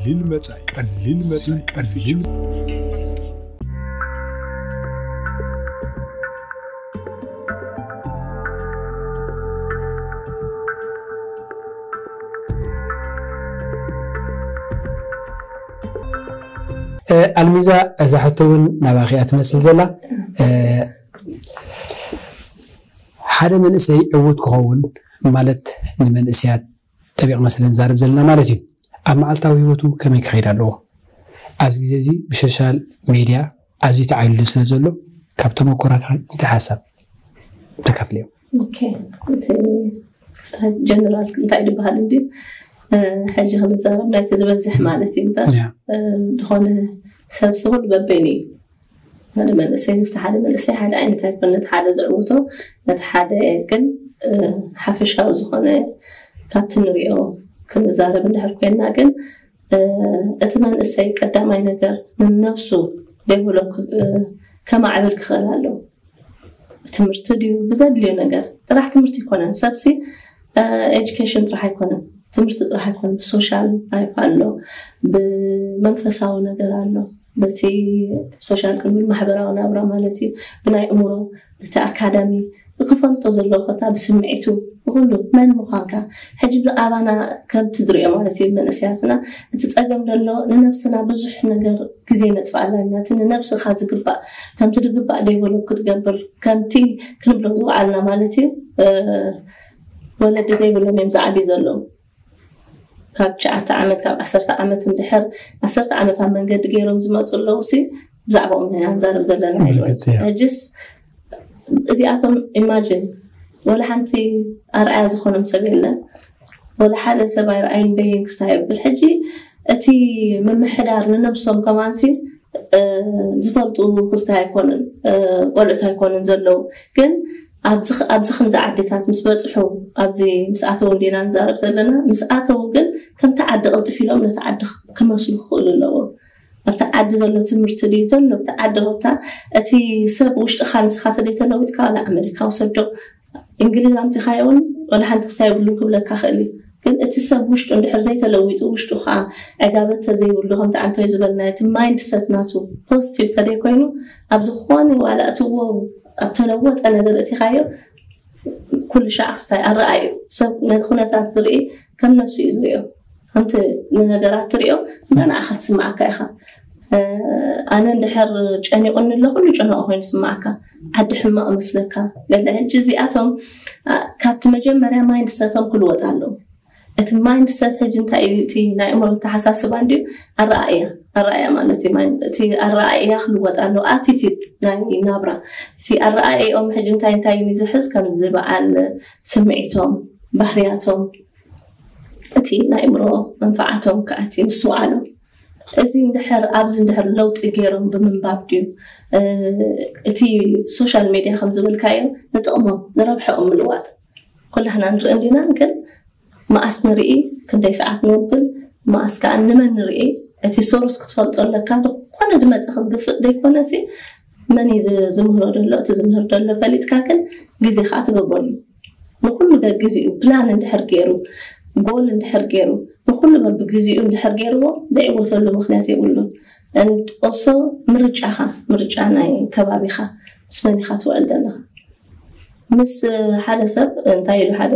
ቀሊል መጻኢ፣ ቀሊል መጻኢ፣ ቀሊል ኣልሚዛ፣ እዛ ሕቶ እውን ናባኺ እያ ትመስል ዘላ። ሓደ መንእሰይ ዕዉት ክኸውን ማለት ንመንእሰያት ጠቢቕና ስለ ንዛረብ ዘለና ማለት እዩ። ኣብ መዓልታዊ ህይወቱ ከመይ ክኸይድ ኣለዎ? ኣብዚ ግዜ እዚ ብሶሻል ሜድያ ኣዝዩ ተዓብሊሉ ስለ ዘሎ ካብ ተመኩሮኻ እንታይ ሓሳብ ተካፍልዮ? ጀነራል እንታይ ዝበሃል እንዲ ሕጂ ክንዛረብ ናይቲ ዝበዝሕ ማለት እዩ እምበር ዝኾነ ሰብ ስኹል በበይኑ እዩ። ሓደ መንእሰይ ምስቲ ሓደ መንእሰይ ሓደ ዓይነት ኣይኮነ፣ ነቲ ሓደ ዝዕውቶ ነቲ ሓደ ግን ሓፈሻዊ ዝኾነ ካብቲ ንሪኦ ክንዛረብ እንድሕር ኮይና ግን እቲ መንእሰይ ቀዳማይ ነገር ንነብሱ ዴቨሎፕ ከማዕብል ክኽእል ኣለዎ። ትምህርቲ ድዩ ብዘድልዮ ነገር ጥራሕ ትምህርቲ ኣይኮነን። ሰብሲ ኤጁኬሽን ጥራሕ ኣይኮነን፣ ትምህርቲ ጥራሕ ኣይኮነን። ብሶሻል ላይፍ ኣሎ፣ ብመንፈሳዊ ነገር ኣሎ፣ በቲ ሶሻል ክንብል ማሕበራዊ ናብራ ማለት እዩ። ብናይ እምሮ እቲ ኣካዳሚ ብክፈልጦ ዘለዎ ኮታ ብስምዒቱ ብኩሉ መን ምዃንካ ሕጂ ብኣባና ከምቲ ዝሪኦ ማለት እዩ መንእሰያትና እቲ ፀገም ዘሎ ንነብስና ብዙሕ ነገር ግዜ ነጥፍኣላ ኢና። እቲ ንነብስኻ ዝግባእ ከምቲ ዝግባእ ዴቨሎፕ ክትገብር ከምቲ ክንብሎ ዝወዓልና ማለት እዩ ወለዲ ዘይብሎም እዮም ዝዓብዩ ዘለዉ። ካብ ትሽዓተ ዓመት ካብ ዓሰርተ ዓመት እንድሕር ዓሰርተ ዓመት ኣብ መንገዲ ገይሮም ዝመፁ ኣለዉ ሲ ብዛዕባኦም ኢና ንዛረብ ዘለና ኢሉ ሕጅስ እዚኣቶም ኢማጅን ወላ ሓንቲ ኣርኣያ ዝኾኖም ሰብ የለን። ወላ ሓደ ሰብ ኣይረኣዩን በይን ክስታይ የብል ሕጂ እቲ ምምሕዳር ንነብሶም ከማንሲ ዝፈልጡ ክስታይ ኣይኮኑን ቆልዑት ኣይኮኑን ዘለዉ ግን ኣብዚ ከምዚ ዓድታት ምስ በፅሑ ኣብዚ ምስ ኣተዉ እንዲና ንዛረብ ዘለና ምስ ኣተዉ ግን ከምቲ ዓዲ ቅልጥፍ ኢሎም ነቲ ዓዲ ክመስሉ ክኽእሉ ኣለዎም። ኣብቲ ዓዲ ዘሎ ትምህርቲ ድዩ ዘሎ ኣብቲ ዓዲ ኮታ እቲ ሰብ ውሽጥኻ ንስኻ ተደይተለዊጥካ ዋላ ኣመሪካዊ ሰብ ዶ እንግሊዝ ኣምፂኻዮ እውን ዋላ ሓንቲ ክሳይ የብሉን ክብለካ ክእል እዩ። ግን እቲ ሰብ ውሽጡ እንድሕር ዘይተለዊጡ ውሽጡ ከዓ ዕጋበት ተዘይብሉ ከምቲ ዓንቶይ ዝበልና እቲ ማይንድ ሰት ናቱ ፖዚቲቭ ተደይ ኮይኑ ኣብ ዝኾነ ዋላ እትዎ ኣብ ተለወጠ ነገር እቲኻዮ ኩሉ ሻዕ ክስታይ ኣረኣዩ ሰብ ነቲ ኩነታት ዝርኢ ከም ነብሱ እዩ ዝሪኦ። ከምቲ ንነገራት ትሪኦ እንተ ንዓኻ ትስምዓካ ኢኻ። ኣነ እንድሕር ጨኒቑኒ ኣሎ ኩሉ ጨነቑ ኮይኑ ይስምዓካ። ዓዲ ሕማቕ መስለካ ገለ ሕጂ እዚኣቶም ካብቲ መጀመርያ ማይንድሰቶም ክልወጥ ኣለዉ። እቲ ማይንድሰት ሕጂ እንታይ እዩ እቲ ናይ እምሮ ኣተሓሳስባ እንድዩ ኣረኣእያ ኣረኣእያ ማለት እዩ እቲ ኣረኣእያ ክልወጥ ኣለዎ ኣቲቲድ ናይ ናብራ እቲ ኣረኣእያኦም ሕጂ እንታይ እንታይ እዩ ዝሕዝ ከምዚ በዓል ስምዒቶም ባህርያቶም እቲ ናይ እምሮ መንፈዓቶም ከኣቲ ምስትውዓሎም እዚ እንድሕር ኣብዚ እንድሕር ለውጢ ገይሮም ብምንባብ ድዩ እቲ ሶሻል ሜድያ ከም ዝበልካዮ ንጥቕሞም ንረብሐኦም ምልዋጥ ኩላህና ንርኢ እንዲና ግን መኣስ ንርኢ ክንደይ ሰዓት ንውብል መኣስ ከዓ ንመን ንርኢ እቲ ሶርስ ክትፈልጦ ኣለካ ዝኾነ ዝመፀ ክትግፍጥ ዘይኮነሲ መን እዩ ዝምህሮ ደሎ እቲ ዝምህር ደሎ ፈሊጥካ ግን ግዜ ከዓ ትገብረሉ ንኩሉ ገግዜኡ ፕላን እንድሕር ገይሩ ጎል እንድሕር ገይሩ ንኩሉ በብግዜኡ እንድሕር ገይርዎ ዘይዕወተሉ ምክንያት የብሉን። ኦሶ ምርጫኻ ምርጫ ናይ ከባቢኻ ምስ መን ኢኻ ትውዕል ዘለኻ ምስ ሓደ ሰብ እንታይ ኢሉ ሓደ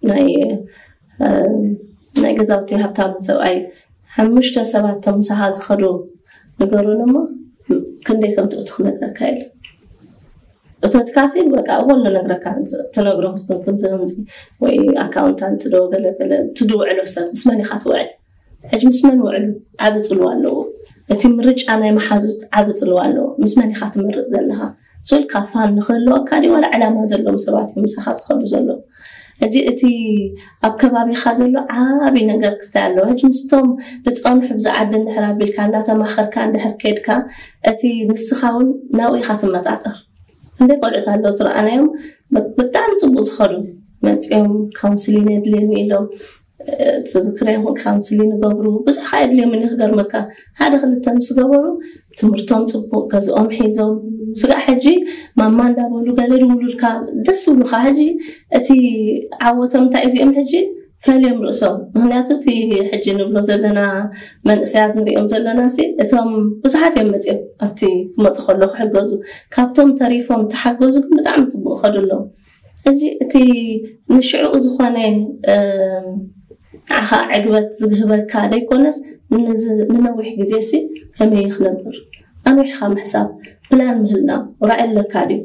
ናይ ናይ ገዛውቲ ሃብታም ሰብኣይ ሓሙሽተ ሰባት ቶም ምሳኻ ዝኸዱ ንገሩን እሞ ክንደይ ከም ትእቱ ክነግረካ ኢሉ እቶትካሲ በቃ እኮ ነግረካ ትነግሮ ክስተንትን ዘምዚ ወይ ኣካውንታንት ዶ ገለገለ ትድውዕሎ ሰብ ምስ መን ኢኻ ትውዕል ሕጂ ምስ መን ውዕሉ ዓቢ ጽልዋ ኣለዎ እቲ ምርጫ ናይ መሓዙት ዓቢ ጽልዋ ኣለዎ ምስ መን ኢኻ ትመርጽ ዘለኻ ሶል ካፋን ንኽህልወካ ዲ ዋላ ዕላማ ዘለዎም ሰባት እዮም ምሳኻ ዝኸዱ ዘለዉ ሕጂ እቲ ኣብ ከባቢኻ ዘሎ ዓቢ ነገር ክስታይ ኣለዎ ሕጂ ምስቶም ዝጸንሑ ብዚ ዓዲ እንድሕር ኣቢልካ እንዳተማኸርካ እንድሕር ከድካ እቲ ንስኻ እውን ናብኡ ኢኻ ትመጣጠር እንደ ቆልዑት ኣለዉ ዝረኣናዮም ብጣዕሚ ፅቡቅ ዝኸዱ መፂኦም ካውንስሊን የድልየኒ ኢሎም ትዝክረ ይኹን ካውንስሊን ይገብሩ ብዙሕ ከዓ የድልዮም እኒ ክገርመካ ሓደ ክልተ ምስ ገበሩ ትምህርቶም ፅቡቅ ገዝኦም ሒዞም ስጋዕ ሕጂ ማማ እንዳበሉ ገለ ድውሉልካ ደስ ዝብሉካ ሕጂ እቲ ዓወቶም እንታይ እዚኦም ሕጂ ፈልዮም ርእሶም። ምክንያቱ እቲ ሕጂ ንብሎ ዘለና መንእሰያት ንሪኦም ዘለና ሲ እቶም ብዙሓት እዮም መፅኦም ኣብቲ ክመፁ ከሎ ክሕገዙ፣ ካብቶም ተሪፎም ተሓገዙ ግን ብጣዕሚ ፅቡቅ ከዱ ኣለዉ። ሕጂ እቲ ንሽዕኡ ዝኾነ ንዓኻ ዕግበት ዝህበካ ዘይኮነስ ንነዊሕ ግዜ ሲ ከመይ ክነብር ኣንዊሕካ ምሕሳብ፣ ፕላን ምህላው፣ ራእይ ኣለካ ድዩ?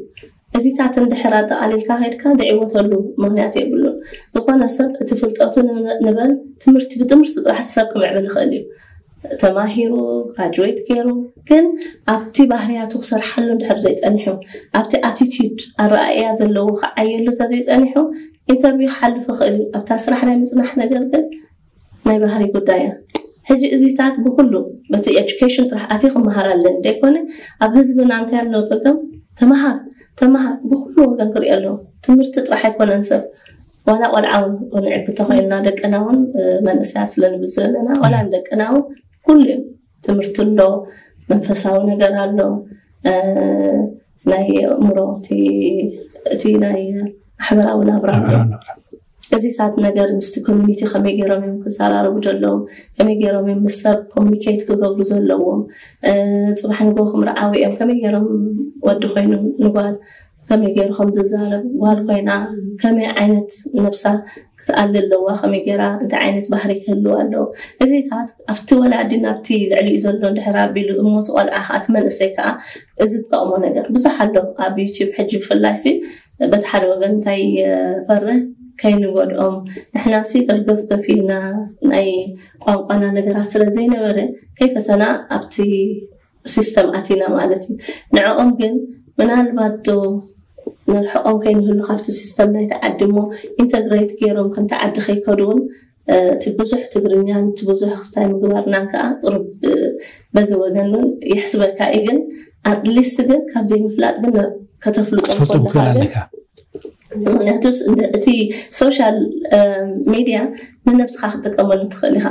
እዚታት እንድሕር ኣጠቓሊልካ ከድካ ዝዕወተሉ ምክንያት የብሉን። ዝኾነ ሰብ እቲ ፍልጠቱ ንበል ትምህርቲ ብትምህርቲ ጥራሕ ሰብ ክምዕብል ይኽእል እዩ። ተማሂሩ ግራጅዌት ገይሩ ግን ኣብቲ ባህርያቱ ክሰርሓሉ እንድሕር ዘይፀኒሑ፣ ኣብቲ ኣቲቲዩድ ኣረኣእያ ዘለዎ ክዓየሉ ተዘይፀኒሑ ኢንተርቪው ክሓልፍ ይኽእል እዩ። ኣብታ ስራሕ ናይ ምፅናሕ ነገር ግን ናይ ባህሪ ጉዳይ እያ። ሕጂ እዚታት ብኩሉ በቲ ኤጁኬሽን ጥራሕ ኣትዩ ክመሃር ኣለኒ ዘይኮነ ኣብ ህዝብና እንታይ ኣለዎ ፀገም ተመሃር ተመሃር ብኩሉ ወገን ክሪኦ ኣለዎ። ትምህርቲ ጥራሕ ኣይኮነን ሰብ ዋላ ቆልዓ እውን ንዕቢ ተኮይንና ደቅና እውን መንእሰያት ስለንብል ዘለና ዋላ ንደቅና እውን ኩሉ እዮም ትምህርቲ ኣሎ መንፈሳዊ ነገር ኣሎ ናይ ኣእምሮ እቲ ናይ ማሕበራዊ ናብራ እዚታት ነገር ምስቲ ኮሚኒቲ ከመይ ገይሮም እዮም ክዘራረቡ ዘለዎም ከመይ ገይሮም እዮም ምስ ሰብ ኮሚኒኬት ክገብሩ ዘለዎም ፅባሕ ንጎ ክምርዓዊ እዮም ከመይ ገይሮም ወዲ ኮይኑ ንጓል ከመይ ገይሩ ከም ዝዛረብ ጓል ኮይና ከመይ ዓይነት ነብሳ ክትኣሊ ኣለዋ ከመይ ገይራ እንታይ ዓይነት ባህሪ ክህልዋ ኣለዎ እዚታት ኣብቲ ወላዲ ናብቲ ልዕሊኡ ዘሎ እንድሕር ኣቢሉ እሞቲ ቆልዓ ከዓ እቲ መንእሰይ ከዓ እዚ ዝጠቕሞ ነገር ብዙሕ ኣሎ ኣብ ዩቲብ ሕጂ ብፍላይ ሲ በቲ ሓደ ወገን እንታይ ፈርህ ከይንጎድኦም ንሕና ሲ ደርገፍ ገፊልና ናይ ቋንቋና ነገራት ስለ ዘይነበረ ከይፈተና ኣብቲ ሲስተም ኣቲና ማለት እዩ ንዕኦም ግን ምናልባት ዶ ንርሕቆም ከይንህሉ ካብቲ ሲስተም ናይቲ ዓዲ እሞ ኢንተግሬት ገይሮም ከምቲ ዓዲ ከይከዱ እውን እቲ ብዙሕ ትግርኛን እቲ ብዙሕ ክስታይ ምግባርናን ከዓ ቁርብ በዚ ወገን እውን ይሕስበካ እዩ ግን ኣትሊስት ግን ካብ ዘይምፍላጥ ግን ከተፍልጦም ትፈልጦም ትኽእል ከለካ ግን ኣለካ ምክንያቱስ እንደ- እቲ ሶሻል ሚዲያ ንነብስኻ ክትጥቀመሉ ትኽእል ኢኻ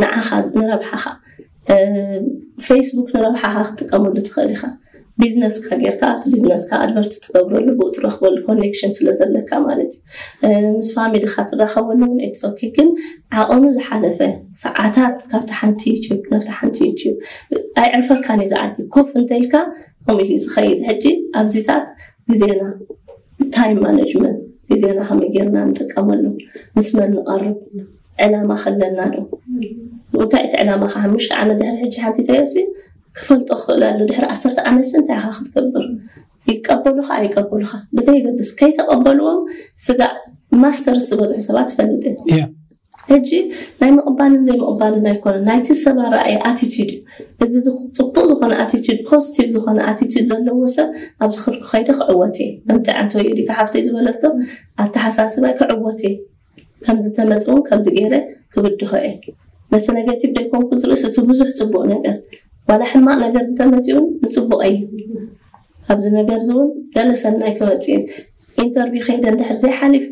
ንዓኻ ንረብሓኻ ፌስቡክ ንረብሓኻ ክትጥቀመሉ ትኽእል ኢኻ ቢዝነስካ ጌርካ ኣብቲ ቢዝነስካ ኣድቨርት ትገብረሉ ብኡ ትረኽበሉ ኮኔክሽን ስለ ዘለካ ማለት እዩ ምስ ፋሚሊካ ትራኸበሉ እውን ኢትስ ኦኬ ግን ዓቐኑ ዝሓለፈ ሰዓታት ካብቲ ሓንቲ ዩቲዩብ ናብቲ ሓንቲ ዩቲዩብ ኣይዕርፈካን እዩ ዝዓዲ ኮፍ እንተኢልካ ከምኡ ኢሉ እዩ ዝኸይድ ሕጂ ኣብዚታት ግዜና ታይም ማኔጅመንት ግዜና ከመይ ጌርና ንጥቀመሉ ምስ መን ንቐርብ ዕላማ ከለና ዶ እንታይ እቲ ዕላማ ከ ሓሙሽተ ዓመት ድሕሪ ሕጂ ሓቲተዮ ሲ ክፈልጦ ክኽእል ኣሎ ድሕሪ ዓሰርተ ዓመት ሲ እንታይ ኢኻ ክትገብር ይቀበሉኻ ኣይቀበሉኻ ብዘይገድስ ከይተቐበልዎም ስጋዕ ማስተርስ ዝበፅሑ ሰባት ትፈልጥ እየ ሕጂ ናይ ምቕባልን ዘይምቕባልን ኣይኮነን ናይቲ ሰብ ኣረኣየ ኣቲቲድ እዩ እዚ ጽቡቕ ዝኾነ ኣቲቲድ ፖዚቲቭ ዝኾነ ኣቲቲድ ዘለዎ ሰብ ኣብዚ ክርኩ ከይደ ክዕወት እየ ከምቲ ዓንተ ወይ ሪታ ሓፍተይ ዝበለቶ ኣተሓሳስባይ ክዕወት እየ ከምዚ እንተመፅውን ከምዚ ገይረ ክብድሆ እየ ነቲ ኔጌቲቭ ደይኮንኩ ዝርእስ እቲ ብዙሕ ፅቡቕ ነገር ዋላ ሕማቕ ነገር እንተመፅኡ ንፅቡቕ እዩ ኣብዚ ነገር እዚ እውን ገለ ሰናይ ክመፅእ እዩ ኢንተርቪው ከይደ እንድሕር ዘይሓሊፈ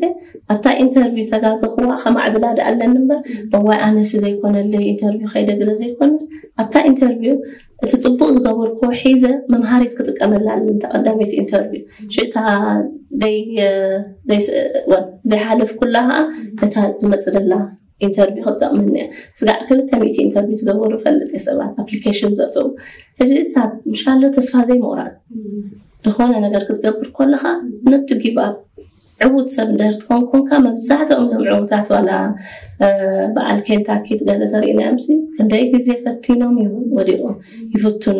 ኣብታ ኢንተርቪው ተጋገኽዋ ከማዕብላ ደኣ ኣለኒ እምበር እዋይ ኣነሲ ዘይኮነለይ ኢንተርቪው ከይደ ገለ ዘይኮነስ ኣብታ ኢንተርቪው እቲ ፅቡቅ ዝገበርክዎ ሒዘ መምሃሪት ክጥቀመላ ኣለኒ እታ ቀዳመይቲ ኢንተርቪው ሽእታ ዘይሓለፍኩላ ከዓ ነታ ዝመፅእ ደላ ኢንተርቪው ክትጠቕመኒ እያ ስጋዕ ክልተ ሚእቲ ኢንተርቪው ዝገበሩ ፈልጥ እየ ሰባት ኣፕሊኬሽን ዘእተው ሕጂ እሳት ምሻሎ ተስፋ ዘይምቑራፅ ዝኾነ ነገር ክትገብር ከለኻ ነቲ ጊቭ ኣፕ ዕዉት ሰብ እንድሕር ትኾን ኮንካ መብዛሕትኦም እዞም ዕዉታት ዋላ በዓል ኬንታኪ ገለ ተሪእናዮም ሲ ክንደይ ግዜ ፈቲኖም እዮም ወዲቖም ይፍትኑ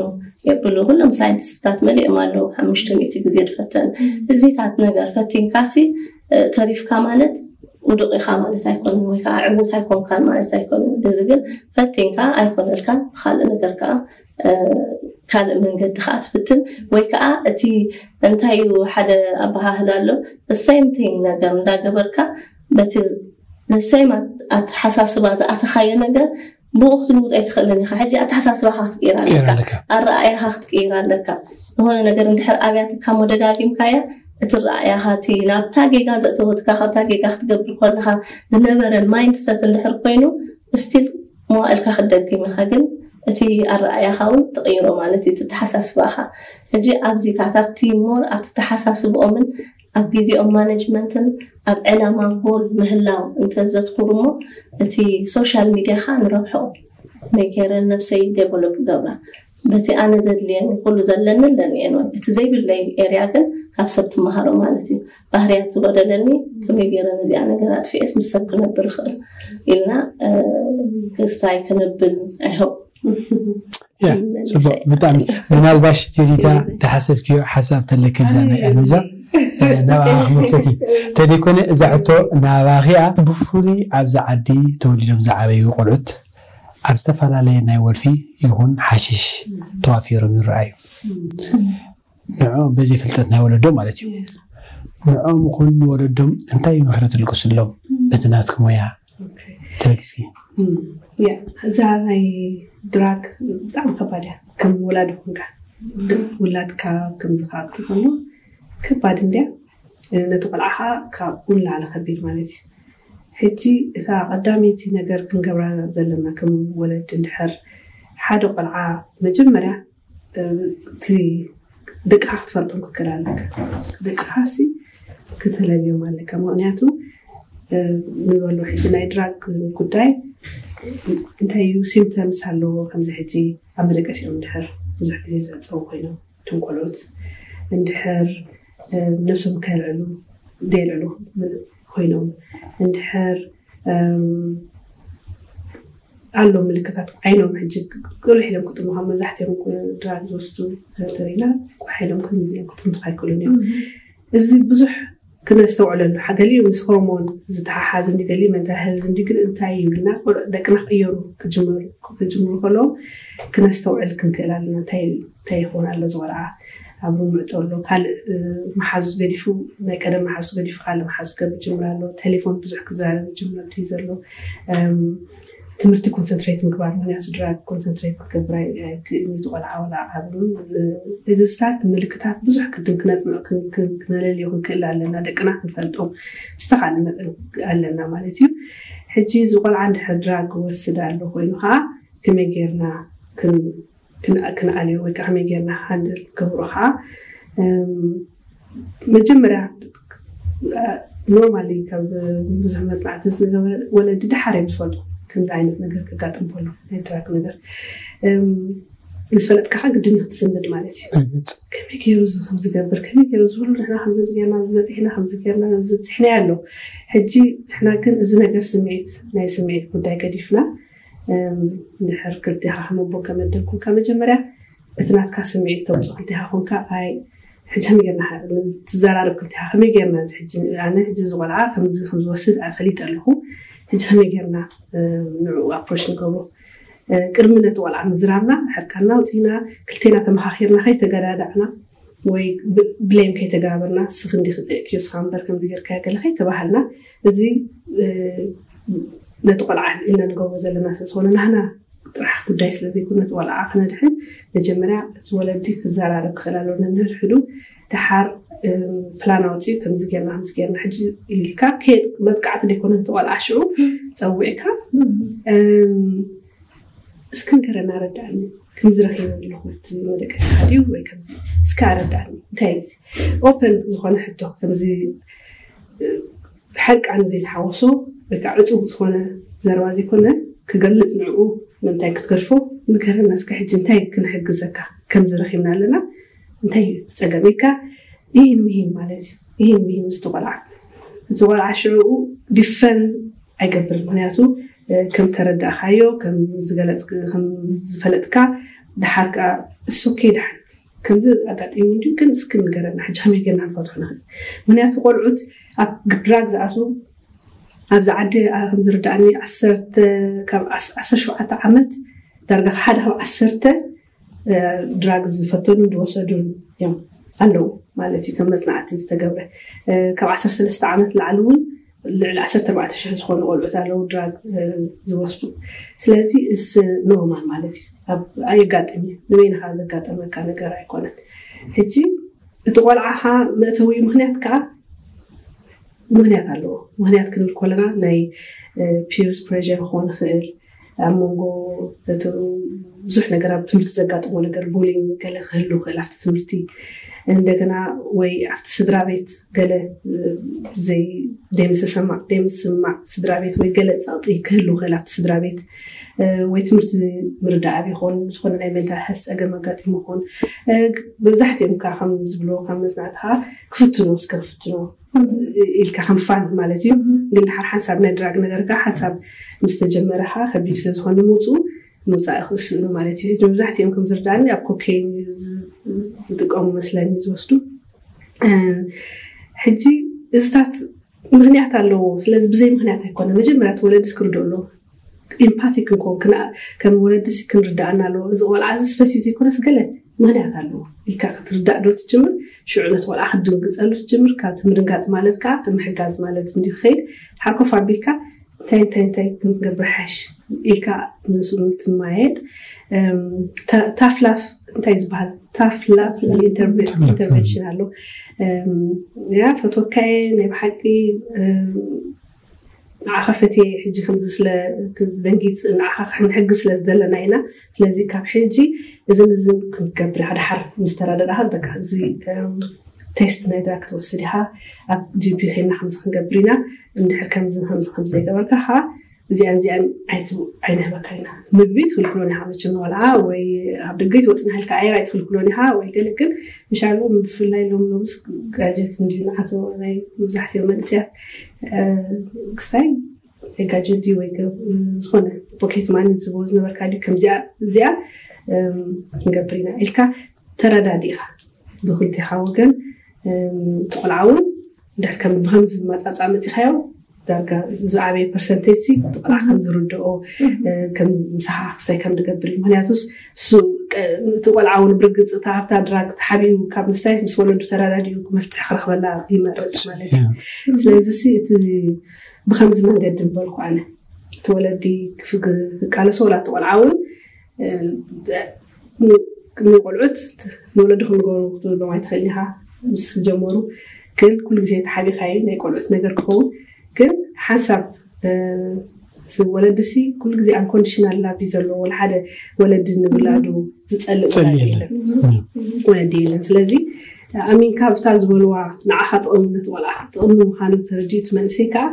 የብሉ ኩሎም ሳይንቲስትታት መሊኦም ኣለዉ ሓሙሽተ ሚእቲ ግዜ ዝፈተኑ እዚታት ነገር ፈቲንካ ሲ ተሪፍካ ማለት ውዱቕ ኢኻ ማለት ኣይኮነን ወይ ከዓ ዕዉት ኣይኮንካን ማለት ኣይኮነን እዚ ግን ፈቲንካ ኣይኮነልካን ብካልእ ነገር ከዓ ካልእ መንገዲ ከዓ ትፍትን ወይ ከዓ እቲ እንታይ እዩ ሓደ ኣበሃህላ ኣሎ ሰይም ቲንግ ነገር እንዳገበርካ በቲ ሰይም ኣተሓሳስባ ዝኣተኻዮ ነገር ብኡ ክትልውጦ ኣይትኽእልን ኢኻ ሕጂ ኣተሓሳስባኻ ክትቅይር ኣለካ ኣረኣያኻ ክትቅይር ኣለካ ዝኾነ ነገር እንድሕር ኣብያትካ ሞደጋጊምካያ እቲ ረኣያኻ እቲ ናብታ ጌጋ ዘእተወትካ ካብታ ጌጋ ክትገብር ከለኻ ዝነበረ ማይንድሰት እንድሕር ኮይኑ ስቲል መዋእልካ ክትደግም ኢኻ ግን እቲ ኣረኣያኻ እውን ትቕይሮ ማለት እዩ ተተሓሳስባኻ ሕጂ ኣብዚታት ኣብቲ ሞር ኣብቲ ተሓሳስብኦምን ኣብ ግዜኦም ማኔጅመንትን ኣብ ዕላማ ጎል ምህላው እንተዘትኩሩ እሞ እቲ ሶሻል ሚድያ ከዓ ንረብሐኡ መይ ገይረ ነብሰይ ዴቨሎፕ ገብራ በቲ ኣነ ዘድልየኒ ኩሉ ዘለኒ ኣለኒ እየ ንብል። እቲ ዘይብለይ ኤርያ ግን ካብ ሰብ ትመሃሮ ማለት እዩ። ባህርያት ዝጎደለኒ ከመይ ገይረ ነዚኣ ነገር ኣጥፊኤስ ምስ ሰብ ክነብር ይኽእል ኢልና ክስታይ ክንብል ኣይሆ ጽቡቅ ብጣዕሚ ምናልባሽ ዮዲታ ተሓሰብክዮ ሓሳብ ተለኪ ብዛ ናይ ኣልሚዛ ናብኣ ክመልሰኪ እንተደይኮነ እዛ ሕቶ ናባኺያ ብፍሉይ ኣብዚ ዓዲ ተወሊዶም ዝዓበዩ ቆልዑት ኣብ ዝተፈላለየ ናይ ወልፊ ይኹን ሓሽሽ ተዋፊሮም ይረኣዩ ንዕኦም በዘይ ፍልጠት ናይ ወለዶ ማለት እዩ ንዕኦም ይኹን ንወለዶም እንታይ ምኽሪ ትልቅስሎም በቲ ናትኩም ሞያ ተበጊስኪ እዛ ናይ ድራግ ብጣዕሚ ከባድ እያ ከም ወላዲ ኮንካ ውላድካ ከምዚ ከኣቱ ከሎ ከባድ እንድያ ነቲ ቆልዓ ከዓ ካብኡ ንላዕሊ ከቢድ ማለት እዩ ሕጂ እታ ቀዳመይቲ ነገር ክንገብራ ዘለና ከም ወለድ እንድሕር ሓደ ቆልዓ መጀመርያ እቲ ደቅኻ ክትፈልጦም ክትክእል ኣለካ ደቅኻ ሲ ክትለልዮም ኣለካ ምክንያቱ ንበሎ ሕጂ ናይ ድራግ ጉዳይ እንታይ እዩ ሲምተምስ ኣለዎ ከምዚ ሕጂ ኣብ መደቀሲኦም ድሕር ብዙሕ ግዜ ዘፀው ኮይኖም እቶም ቆልዑት እንድሕር ነብሶም ከልዕሉ ደልዕሉ ኮይኖም እንድሕር ኣሎ ምልክታት ዓይኖም ሕጂ ቅልሕ ኢሎም ክጥምኻ መብዛሕትኦም ድራግ ዝወስዱ ተሪና ቋሕ ኢሎም ከምዚኦም ክጥምትኻ ኣይክእሉን እዮም እዚ ብዙሕ ክነስተውዕለሉ ሓገሊ ምስ ሆርሞን ዝተሓሓዝ እንዲ ገሊ መንታል ሄልዝ እንዲ ግን እንታይ ይብልና ደቅና ክቅየሩ ክጅምሩ ከለዎም ክነስተውዕል ክንክእል ኣለና እንታይ እንታይ ይኸውን ኣሎ ዝቆልዓ ኣብ ምዕጦ ኣሎ ካልእ መሓዙ ገዲፉ ናይ ቀደም መሓዙ ገዲፉ ካልእ መሓዙ ክገብር ጅምር ኣሎ ቴሌፎን ብዙሕ ክዛረብ ጅምር ድዩ ዘሎ ትምህርቲ ኮንሰንትሬት ምግባር ምክንያቱ ድራግ ኮንሰንትሬት ክትገብር ክእልኒ ዝቆልዓ ወላ ዓብሉ እዚ ስታት ምልክታት ብዙሕ ቅድም ክነፅንዕ ክነለልዮ ክንክእል ኣለና ደቅና ክንፈልጦም ዝተኻለ መጠን ኣለና ማለት እዩ ሕጂ እዚ ቆልዓ እንድሕር ድራግ ክወስድ ኣሎ ኮይኑ ከዓ ከመይ ጌርና ክንኣልዮ ወይ ከዓ ከመይ ጌርና ሃንድል ክገብሮ ከዓ መጀመርያ ኖርማሊ ካብ ብዙሕ መፅናዕቲ ዝገበረ ወለዲ ድሓር እዮም ዝፈልጡ ከምዚ ዓይነት ነገር ክጋጥም ከሎ ናይ ድራግ ነገር ምስ ፈለጥካ ግድን ክትስምድ ማለት እዩ ከመይ ገይሩ እዚ ከምዝገብር ከመይ ገይሩ ዝብሉ ንሕና ከምዚ ጌርና ዝበፂሕና ከምዚ ጌርና ከምዝበፂሕና ኣሎ ሕጂ ንሕና ግን እዚ ነገር ስምዒት ናይ ስምዒት ጉዳይ ገዲፍና ድሕር ክልቴኻ ከም ኣቦ ከመደብ ኮንካ መጀመርያ እቲ ናትካ ስምዒት ተውፅእ ክልቴኻ ኮንካ ኣይ ሕጂ ከመይ ጌርና ትዘራረብ ክልቴኻ ከመይ ጌርና እዚ ሕጂ ኣነ ሕጂ ዝቆልዓ ከምዚ ከምዝወስድ ኣፈሊጥ ኣለኹ ሕጂ ከመይ ጌርና ንዕኡ ኣፕሮች ንገብሮ ቅድሚ ነቲ ቆልዓ ምዝራብና ሕርቃና ውፅኢና ክልቴና ተመኻኺርና ከይተገዳዳዕና ወይ ብሌም ከይተጋበርና ስኽ እንዲ ክፅእክዮ ስኻ እምበር ከምዚ ጌርካ ገለ ከይተባሃልና እዚ ነቲ ቆልዓ ኢና ንገብሮ ዘለና ስለዝኾነ ናህና ጥራሕ ጉዳይ ስለዘይኮነ ነቲ ቆልዓ ክነድሕን መጀመርያ እቲ ወለዲ ክዘራረብ ክኽእል ኣለዎ ነንሕድሕዱ ድሓር ፕላን ኣውፅኡ ከምዚ ጌርና ከምዚ ጌርና ሕጂ ኢልካ መጥቃዕቲ ዘይኮነ ነቲ ቆልዓ ሽዑ ፀዊዕካ እስኪ ንገረና ኣረዳእኒ ከምዚ ረኺበ ኣለኹ እቲ መደቀሲኻ ድዩ ወይ ከምዚ እስኪ ኣረዳእኒ እንታይ እዩ ኦፐን ዝኾነ ሕቶ ከምዚ ሕርቃን ዘይተሓወሶ ወይ ከዓ ዕፁብ ዝኾነ ዘረባ ዘይኮነ ክገልፅ ንዕኡ ምንታይ ክትገድፎ ንገረና እስከ ሕጂ እንታይ ክንሕግዘካ ከምዚ ረኺብና ኣለና እንታይ እዩ ዝፀገም ኢልካ ይህን ምሂን ማለት እዩ ይህን ምሂን ምስ ቆልዓ እቲ ቆልዓ ሽዕኡ ዲፈን ኣይገብር ምክንያቱ ከም ተረዳእካዮ ከም ዝፈለጥካ ድሓር ከዓ እሱ ከይድሓን ከምዚ ኣጋጢሙ እንዲ ግን እስኪ ንገረና ሕጂ ከመይ ገና ንፈትሖ ንኽእል ምክንያቱ ቆልዑት ኣብ ድራግ ዝኣትዉ ኣብዚ ዓዲ ከም ዝርዳእኒ ዓሰርተ ካብ ዓሰርተ ሸውዓተ ዓመት ዳርጋ ሓደ ካብ ዓሰርተ ድራግ ዝፈተኑን ዝወሰዱን እዮም ኣለዉ ማለት እዩ ከም መፅናዕቲ ዝተገብረ ካብ ዓሰርተ ሰለስተ ዓመት ላዕሊ እውን ልዕሊ ዓሰርተ ኣርባዕተ ሽሕ ዝኾኑ ቆልዑት ኣለዉ ድራግ ዝወስዱ ስለዚ እስ ኖርማል ማለት እዩ ኣየጋጥም እዩ ንበይንኻ ዘጋጠመካ ነገር ኣይኮነን ሕጂ እቲ ቆልዓኻ መእተዊ ምክንያት ከዓ ምክንያት ኣለዎ ምክንያት ክንብል ከለና ናይ ፒርስ ፕሬር ክኾን ይኽእል ኣብ መንጎ ብዙሕ ነገር ኣብ ትምህርቲ ዘጋጥሞ ነገር ቡሊንግ ገለ ክህሉ ይኽእል ኣብቲ ትምህርቲ እንደገና ወይ ኣብቲ ስድራ ቤት ገለ ዘይደምስሰማዕ ደምስማዕ ስድራ ቤት ወይ ገለ ጸቕጢ ክህሉ ክእል ኣብቲ ስድራ ቤት ወይ ትምህርቲ ምርዳእ ይኹን ዝኾነ ናይ ሜንታል ሄልስ ጸገም ኣጋጢሙ ይኹን መብዛሕትኦም ካ ከም ዝብሎ ካብ መጽናዕትኻ ክፍትኖ እስከ ክፍትኖ ኢልካ ከም ፋን ማለት እዩ። ግን ድሓር ሓንሳብ ናይ ድራግ ነገር ካ ሓንሳብ ምስ ተጀመረ ካ ከቢድ ስለ ዝኾነ ምውፅኡ ምውፃእ ክስእኑ ማለት እዩ። መብዛሕትኦም ከም ዝርዳእኒ ኣብ ኮኬን ዝጥቀሙ መስለኒ ዝወስዱ። ሕጂ እዚታት ምክንያት ኣለዎ። ስለዚ ብዘይ ምክንያት ኣይኮነ። መጀመርያ እቲ ወለዲ ክርድኦ ኣለዎ። ኢምፓቲክ ክንኮን ከም ወለዲ ክንርዳእና ኣለዎ። እዚ ቆልዓ እዚ ስፈሲቲ ይኮነስ ገለ ምክንያት ኣለዎ ኢልካ ክትርዳእ ዶ ትጅምር? ሽዑ ነቲ ቆልዓ ክትድንግፀሉ ትጅምር። ካብቲ ምድንጋፅ ማለት ከዓ ምሕጋዝ ማለት እንዲ ክኸይድ ሓርኮፍ ኣቢልካ እንታይ እንታይ እንታይ ክንገብር ሓሽ ኢልካ ምስኡ ትማየጥ። ታፍላፍ እንታይ ዝበሃል ታፍላፍ ዝብል ኢንተርቬንሽን ኣሎ። ያ ፈትወካየ ናይ ብሓቂ ንዓኻ ፈትየ ሕጂ ከምዚ ስለ ደንጊፅ ንዓኻ ክንሕግዝ ስለ ዝደለና ኢና። ስለዚ ካብ ሕጂ እዝን እዝን ክንገብር ኢኻ። ድሓር ምስ ተረዳዳእኻ በቃ እዚ ቴስት ናይ ድራግ ክትወስድ ኢኻ። ኣብ ጂፒ ከይና ከምዚ ክንገብር ኢና። እንድሕር ከምዚ ከምዚ ከምዚ ዘይገበርካ ኻ እዚኣን እዚኣን ኣይንህበካ ኢና። ምግቢ ትክልክሎን ኢኻ መቸም ንቆልዓ ወይ ኣብ ደገ ትወፅና ኢልካ ኣየር ኣይትክልክሎን ኢኻ ወይ ገለ ግን ምሻሉ ብፍላይ ሎም ሎምስ ጋጀት እንዲ ንዓቶ ናይ መብዛሕትኦም መንእስያት ክስታይ ጋጀት ድዩ ወይ ዝኾነ ፖኬት ማኒ ዝብዎ ዝነበርካ ድዩ ከምዚኣ እዚኣ ክንገብር ኢና ኢልካ ተረዳዲእኻ ብክልቴኻ ወገን ትቆልዓ እውን ድሕር ከም ብከምዚ መፃፃ መፂኻዮ ዳርጋ ዝዓበየ ፐርሰንቴጅ ሲ ትቆልዓ ከም ዝርድኦ ምሳኻ ክስታይ ከም ዝገብር እዩ። ምክንያቱስ እሱ እቲ ቆልዓ እውን ብርግፅ እታ ኣብታ ድራግ ተሓቢኡ ካብ ምስታይ ምስ ወለዱ ተረዳዲኡ መፍትሒ ክረክበላ ይመርፅ ማለት እዩ። ስለዚ ሲ እቲ ብከምዚ መንገዲ ምበልኩ ኣነ እቲ ወለዲ ክቃለሶ ወላ እቲ ቆልዓ እውን ንቆልዑት ንወለድኩም ንገሩ ክትብሎም ኣይትኽእል ኢኻ። ምስ ጀመሩ ግን ኩሉ ግዜ ተሓቢኻዩ ናይ ቆልዑት ነገር ክኸውን ግን ሓንሳብ ወለዲ ሲ ኩሉ ግዜ ኣንኮንዲሽናል ላቭ እዩ ዘለዎ። ሓደ ወለዲ ንውላዱ ዝፀልእ ወለዲ የለን። ስለዚ ኣሚንካ ብታ ዝበልዋ ንዓኻ ጥቕሚ ነቲ ቆልዓ ጥቕሚ ምዃኑ ተረዲኡ እቲ መንእሰይ ከዓ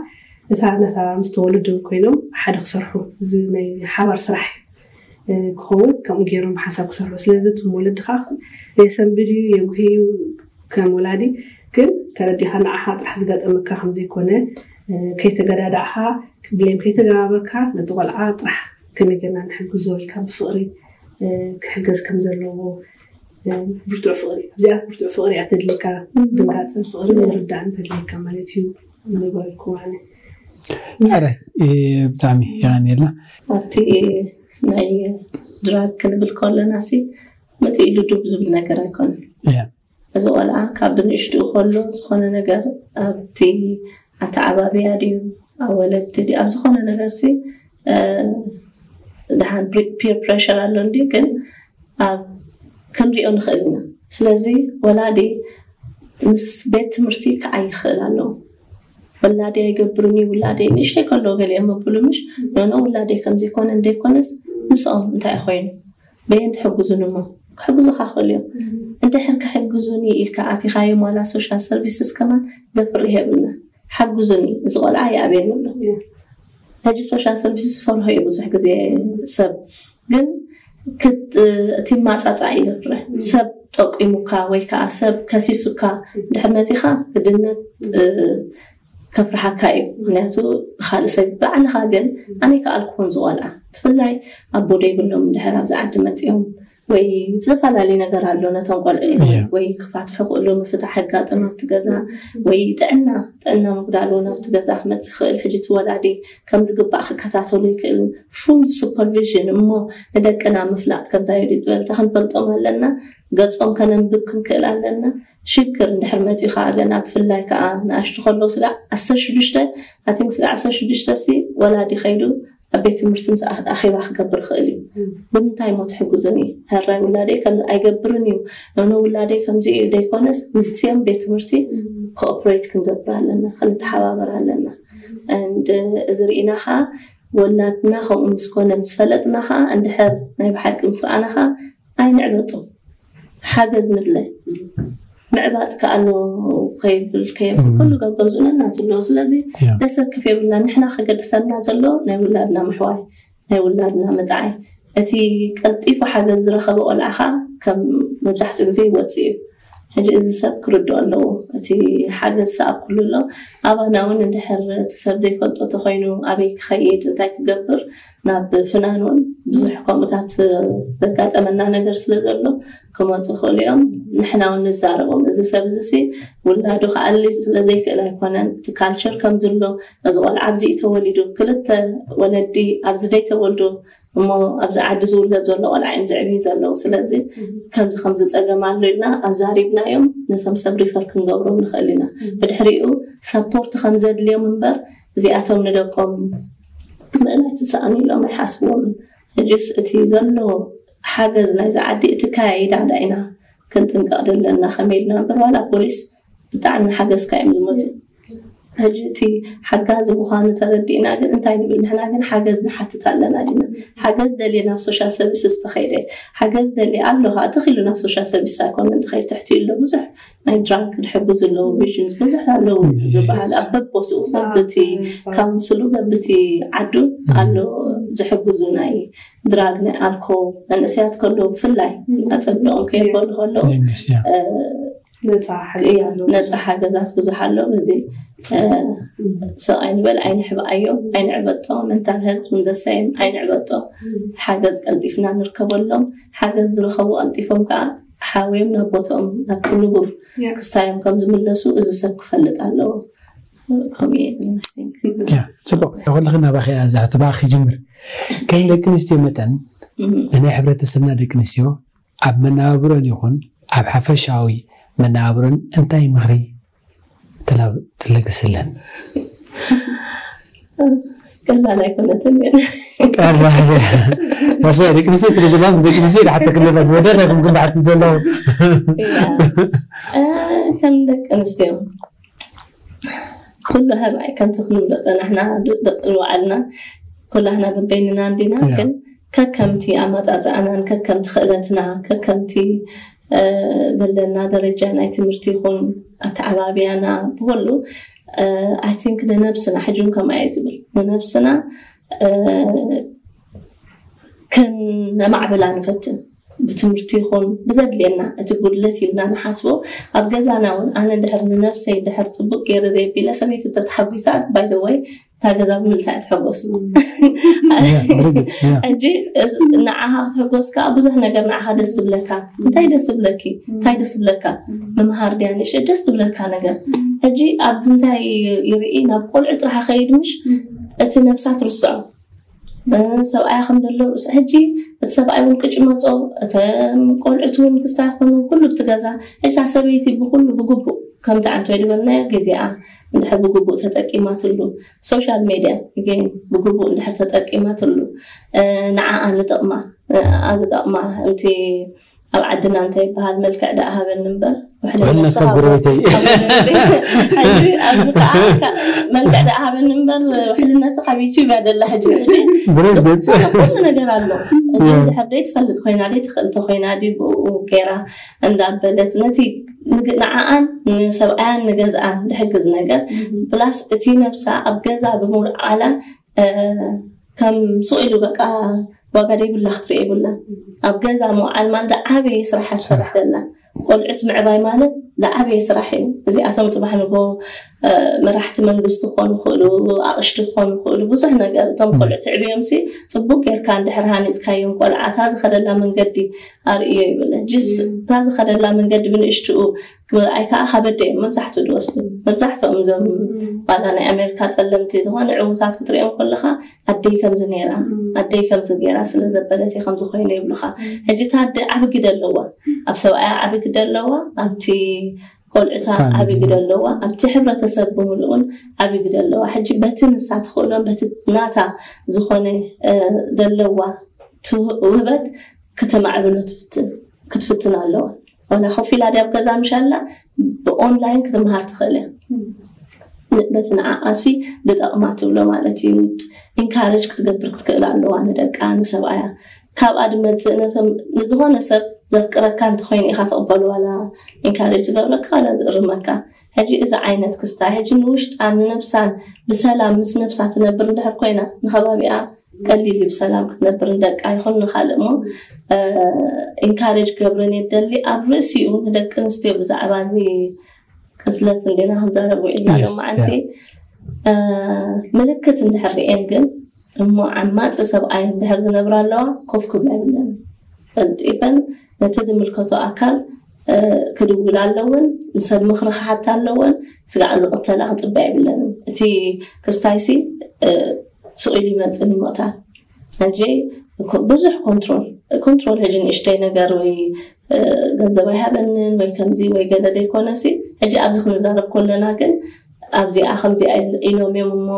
እታ ነታ ምስ ተወለዱ ኮይኖም ሓደ ክሰርሑ እዚ ናይ ሓባር ስራሕ ክኸውን ከምኡ ገይሮም ሓሳብ ክሰርሑ። ስለዚ እቶም ወለድኻ የሰንብድ እዩ የጉሂ እዩ ከም ወላዲ ግን ተረዲኻ ንዓኻ ጥራሕ ዝጋጠመካ ከምዘይኮነ ከይተገዳዳዕኻ ብሌም ከይተገባበርካ ነቲ ቆልዓ ጥራሕ ከመይ ጌርና ንሕግዞ ኢልካ ብፍቕሪ ክሕገዝ ከም ዘለዎ ብርቱዕ ፍቕሪ ኣብዚኣ ብርቱዕ ፍቕሪ እያ ተድልየካ ድንጋፅን ፍቕርን ምርዳእን ተድልየካ ማለት እዩ። ንበልኩ ኣነ ኣረ ብጣዕሚ የቀንየልና። ኣብቲ ናይ ድራግ ክንብል ከለና ሲ መፅእ ኢሉ ዱብ ዝብል ነገር ኣይኮነን። እዚ ቆልዓ ካብ ብንእሽትኡ ከሎ ዝኾነ ነገር ኣብቲ ኣተዓባብያ ድዩ ኣብ ወለዲ ድዩ ኣብ ዝኾነ ነገር ሲ ደሓን ፒር ፕሬሽር ኣሎ እንዲ ግን ኣብ ክንሪኦ ንኽእል ኢና። ስለዚ ወላዲ ምስ ቤት ትምህርቲ ክዓይ ይኽእል ኣለዎ። ወላዲ ኣይገብርን እዩ ውላደይ ንእሽተይ ከለዎ ገሊኦም መብሉ ምሽ ኖኖ ውላደይ ከምዘይኮነ እንደይኮነስ ምስኦም እንታይ ኮይኑ በየን ትሕግዙን እሞ ክሕግዙካ ክእል እዮም። እንድሕር ክሕግዙኒ ኢልካ ኣቲኻዮም ዋላ ሶሻል ሰርቪስስ ከማን ደፍር የብልና። ሓግዙኒ እዚ ቆልዓ ይኣብየኒ ኣሎ። ሕጂ ሶሻል ሰርቪስስ ፈርሆ እዩ ብዙሕ ግዜ ሰብ ግን እቲ ማፃፃ እዩ ዘፍርሕ። ሰብ ጠቂሙካ ወይ ከዓ ሰብ ከሲሱካ ድሕር መፂኻ ግድነት ከፍርሓካ እዩ። ምክንያቱ ብካልእ ሰብ ባዕልኻ ግን ኣነ ከኣልኩ ከምዚ ቆልዓ ብፍላይ ኣቦ ደይብሎም እንድሕር ኣብዚ ዓዲ መፂኦም ወይ ዝተፈላለዩ ነገር ኣሎ ነቶም ቆልዑ ወይ ክፋትሑ ክእሉ ምፍታሕ ኣጋጥም ኣብቲ ገዛ ወይ ጥዕና ጥዕና ምጉዳል እውን ኣብቲ ገዛ ክመፅእ ክእል። ሕጂ እቲ ወላዲ ከም ዝግባእ ክከታተሉ ይክእል። ፉል ሱፐርቪዥን እሞ ንደቅና ምፍላጥ ከምታይ ዩ ዝበልታ ክንፈልጦም ኣለና። ገፆም ከነንብብ ክንክእል ኣለና። ሽግር እንድሕር መፂኡ ከዓ ገና ብፍላይ ከዓ ንኣሽቱ ከለዉ ስጋዕ ዓሰርተ ሽዱሽተ ኣቲንክ ስጋዕ ዓሰርተ ሽዱሽተ ሲ ወላዲ ከይዱ ኣብ ቤት ትምህርቲ ምስ ኣኼባ ክገብር ይኽእል እዩ። ብምንታይ ሞ ትሕግዙኒ? ሕራይ ውላደይ ከም ኣይገብርን እዩ ኖኖ ውላደይ ከምዚ እዩ ዘይኮነስ ምስቲኦም ቤት ትምህርቲ ኮኦፕሬት ክንገብር ኣለና፣ ክንተሓባበር ኣለና። And እዚ ርኢና ከዓ ወላድና ከምኡ ምስ ኮነ ምስ ፈለጥና ከዓ እንድሕር ናይ ብሓቂ ምስ ረኣና ከዓ ኣይንዕበጦ፣ ሓገዝ ንድለ። ምዕባጥ ከኣሎ ከይብል ከየብል ኩሉ ገገዝኡ ነናቱ ኣለዎ። ስለዚ ደሰክፍ የብልና። ንሕና ከገድሰና ዘሎ ናይ ውላድና ምሕዋይ፣ ናይ ውላድና ምጥዓይ። እቲ ቀልጢፉ ሓገዝ ዝረኸበ ቆልዓ ከዓ ከም መብዛሕትኡ ግዜ ይወፅእ እዩ። ሕጂ እዚ ሰብ ክርድኦ ኣለዎ። እቲ ሓገዝ ሰኣብ ኩሉ ኣሎ። ኣባና እውን እንድሕር እቲ ሰብ ዘይፈልጦ ተኮይኑ ኣበይ ክኸይድ እንታይ ክገብር ናብ ፍናን እውን ብዙሕ ከምኡታት ዘጋጠመና ነገር ስለ ዘሎ ክመፁ ይኽእሉ እዮም። ንሕና እውን ንዛረቦም። እዚ ሰብ እዚ ሲ ውላዱ ክኣሊ ስለ ዘይክእል ኣይኮነን። እቲ ካልቸር ከምዚ ኣሎ። እዚ ቆልዓ ኣብዚ እዩ ተወሊዱ። ክልተ ወለዲ ኣብዚ ደይተወልዱ እሞ ኣብዚ ዓዲ ዝውለድ ዘሎ ቆልዓ እዮም ዝዕብዩ ዘለዉ። ስለዚ ከምዚ ከምዚ ፀገም ኣሎ ኢልና ኣዛሪብናዮም ነቶም ሰብ ሪፈር ክንገብሮም ንኽእል ኢና። ብድሕሪኡ ሰፖርት ከም ዘድልዮም እምበር እዚኣቶም ንደቆም ምእላይ ትሰኣኑ ኢሎም ኣይሓስብዎምን። ሕጅስ እቲ ዘሎ ሓገዝ ናይዚ ዓዲ እቲ ከያይዳ ዳ ኢና ክንጥንቀቕ ዘለና። ከመይ ኢልና እምበር ዋላ ፖሊስ ብጣዕሚ ሓገዝካ እዮም ዝመፁ። ሕጂ እቲ ሓጋዚ ምዃኑ ተረዲእና ግን እንታይ ንብል ንሕና ግን ሓገዝ ንሓትት ኣለና ዲና? ሓገዝ ደልየ ናብ ሶሻል ሰርቪስስ ተኸይደ ሓገዝ ደልየ ኣሎ ከዓ ትኽኢሉ ናብ ሶሻል ሰርቪስ ኣይኮነን ድኸይድ ትሕቲ ኣሎ ብዙሕ ናይ ድራግ ክሕግዙ ኣለዉ ቪዥን ብዙሕ ኣለዉ ዝበሃል ኣብ በቦትኡ በብቲ ካውንስሉ በብቲ ዓዱ ኣሎ ዝሕግዙ ናይ ድራግ ናይ ኣልኮል መንእሰያት ከለዉ ብፍላይ ኣፀብኦም ከየበሉ ከለዉ ነፃ ሓገዛት ብዙሕ ኣሎ። በዚ ሰብኣይ ንበል ኣይንሕብኣዮ ኣይንዕበጦ መንታል ሄልት ንደሳይም ኣይንዕበጦ ሓገዝ ቀልጢፍና ንርከበሎም። ሓገዝ ዝረኸቡ ቀልጢፎም ከዓ ሓወዮም ናብ ቦትኦም ናብ ክንቡር ክስታዮም ከም ዝምለሱ እዚ ሰብ ክፈልጥ ኣለዎ። ከምኡ እየ ዝብል። ጽቡቅ ኩልኽን ናባኺ እያ እዛ ሕቶ ብኣኺ ክጅምር። ከም ደቂ ኣንስትዮ መጠን ንናይ ሕብረተሰብና ደቂ ኣንስትዮ ኣብ መነባብሮን ይኹን ኣብ ሓፈሻዊ መነባብሮን እንታይ ምኽሪ ትለግስለን? ቀላል ኣይኮነትን። ሳስባ ደቂ ኣንስትዮ ስለ ዘላ ደቂ ኣንስትዮ ድሓተ ክለላ ወደር ኣይኩም ግን ድሓቲ ዘለዉ ከም ደቂ ኣንስትዮ ኩሉ ህራይ ከምቲ ክንብሎ ፀናሕና ንባዕልና ኩላህና በበይንና እንዲና ግን ከከምቲ ኣመፃፅኣናን ከከምቲ ክእለትና ከከምቲ ዘለና ደረጃ ናይ ትምህርቲ ይኹን ኣተዓባብያና ብኩሉ ኣይ ቲንክ ንነብስና ሕጂ እውን ከምኣ እየ ዝብል ንነብስና ከነማዕብላ ንፈትን ብትምህርቲ ይኹን ብዘድልየና እቲ ጉድለት ኢልና ንሓስቦ ኣብ ገዛና እውን ኣነ ድሕር ንነብሰይ ድሕር ፅቡቅ ገይረ ዘየቢለ ሰበይቲ ተተሓጒሳ ባይደወይ እታ ገዛ ብምልታ እያ ትሕጎስ ሕጂ ንዓኻ ክትሕጎስ ከዓ ብዙሕ ነገር ንዓኻ ደስ ዝብለካ እንታይ ደስ ዝብለኪ እንታይ ደስ ዝብለካ ምምሃር ድያ ንእሽተይ ደስ ዝብለካ ነገር ሕጂ ኣብዚ እንታይ ይርኢ ናብ ቆልዑ ጥራሕ ከይድ ምሽ እቲ ነብሳ ትርስዖ ሰብኣያ ከም ዘሎ ርእሱ ሕጂ እቲ ሰብኣይ እውን ቅጭ መፆ እቶም ቆልዑት እውን ክስታ ይኮኑ ኩሉ ብቲ ገዛ ሕጂ ሰበይቲ ብኩሉ ብግቡእ ከምቲ ዓንተ ዝበልናዮ ግዜኣ እንድሕር ብግቡእ ተጠቂማትሉ ሶሻል ሜድያ ግን ብግቡእ እንድሕር ተጠቂማትሉ ንዓኣ ንጠቕማ ንዓኣ ዝጠቕማ እንቲ ኣብ ዓድና እንታይ ይበሃል መልክዕ ደኣ ሃበኒ እምበር ውሕልነትካ ጎረቤተይ ኣብዚ ከዓ መልክዕ ደኣ ሃበኒ እምበር ውሕልነትካ ካብ ዩቱብ እያ ደላ ሕጂ ኩሉ ነገር ኣሎ እዚ እንድሕር ደይ ትፈልጥ ኮይና ደይ ትኽእልቲ ኮይና ድዩ ብኡ ገይራ እንዳበለት ነቲ ንዓኣን ንሰብኣያን ንገዝኣን ዝሕግዝ ነገር ፕላስ እቲ ነብሳ ኣብ ገዛ ብምውዓላ ከም ሱቕ ኢሉ በቃ ዋጋ ደይብላ ክትሪኦ የብላ ኣብ ገዛ ምውዓል ማለት ዝዓበየ ስራሕ ትሰርሕ ዘላ ቆልዑት ምዕባይ ማለት ዝዓበየ ስራሕ እዩ እዚኣቶም ፅባሕ ንጎ መራሕቲ መንግስቲ ክኾኑ ይኽእሉ ኣቕሽቲ ክኾኑ ይኽእሉ ብዙሕ ነገር እቶም ቆልዑት ዕብዮም ሲ ፅቡቅ ጌርካ እንድሕር ሃኒፅካዮም ቆልዓ እታ ዝኸደላ መንገዲ ኣርእዮ ይብል ጅስ እታ ዝኸደላ መንገዲ ብንእሽትኡ ምርኣይ ከዓ ከበደ እዮም መብዛሕትኡ ዝወስዱ መብዛሕትኦም እዞም ዋላ ናይ ኣሜሪካ ፀለምቲ ዝኾነ ዕዉታት ክትሪኦም ከለካ ኣደይ ከምዚ ነይራ ኣደይ ከምዚ ገይራ ስለ ዘበለት ከምዚ ኮይኑ ይብሉካ ሕጂ እታ ኣደ ዓቢ ግደ ኣለዋ ኣብ ሰብኣያ ዓቢ ግደ ኣለዋ ኣብቲ ቆልዑታ ዓቢ ግደ ኣለዋ ኣብቲ ሕብረተሰብ ብምልኡን ዓቢ ግደ ኣለዋ ሕጂ በቲ ንሳ ትኽእሎን በቲ ናታ ዝኾነ ዘለዋ ውህበት ከተማዕብሎ ክትፍትን ኣለዋ ዋላ ኮፍ ኢላ ድያ ኣብ ገዛ ምሻላ ብኦንላይን ክትምሃር ትኽእል እያ በቲ ንዓኣሲ ዝጠቕማ ትብሎ ማለት እዩ ኢንካሬጅ ክትገብር ክትክእል ኣለዋ ንደቃ ንሰብኣያ ካብኣ ድመፅእ ነቶም ንዝኾነ ሰብ ዘፍቅረካ እንተኮይኑ ኢካ ትቕበሉ ዋላ ኢንካሬጅ ዝገብረካ ዋላ ዝእርመካ። ሕጂ እዚ ዓይነት ክስታይ ሕጂ ንውሽጣ ንነብሳን ብሰላም ምስ ነብሳ ትነብር እንድሕር ኮይና ንከባቢኣ ቀሊል እዩ ብሰላም ክትነብር ንደቃ ይኹን ንካልእ እሞ ኢንካሬጅ ገብረን የደሊ ኣብ ርእሲኡ ንደቂ ኣንስትዮ ብዛዕባ እዚ ቅትለት እንዴና ክንዛረብ ውዒልና Yes, ሎማዓንቲ ምልክት እንድሕር ርኤን ግን እሞ ዓማፂ ሰብኣይ እንድሕር ዝነብራ ኣለዋ ኮፍ ክብላ ይብለን ቀልጢፈን ነቲ ዝምልከቶ ኣካል ክድውላ ኣለወን ንሰብ ምኽሪ ክሓታ ኣለወን ስጋዕ ዝቕተላ ክፅበያ ይብለንን እቲ ክስታይሲ ስቕ ኢሉ ይመፅእ ንምቕታል ሕጂ ብዙሕ ኮንትሮል ኮንትሮል ሕጂ ንእሽተይ ነገር ወይ ገንዘብ ኣይሃበንን ወይ ከምዚ ወይ ገለ ዘይኮነሲ ሕጂ ኣብዚ ክንዛረብ ከለና ግን ኣብዚኣ ከምዚኣ ኢሎም እዮም እሞ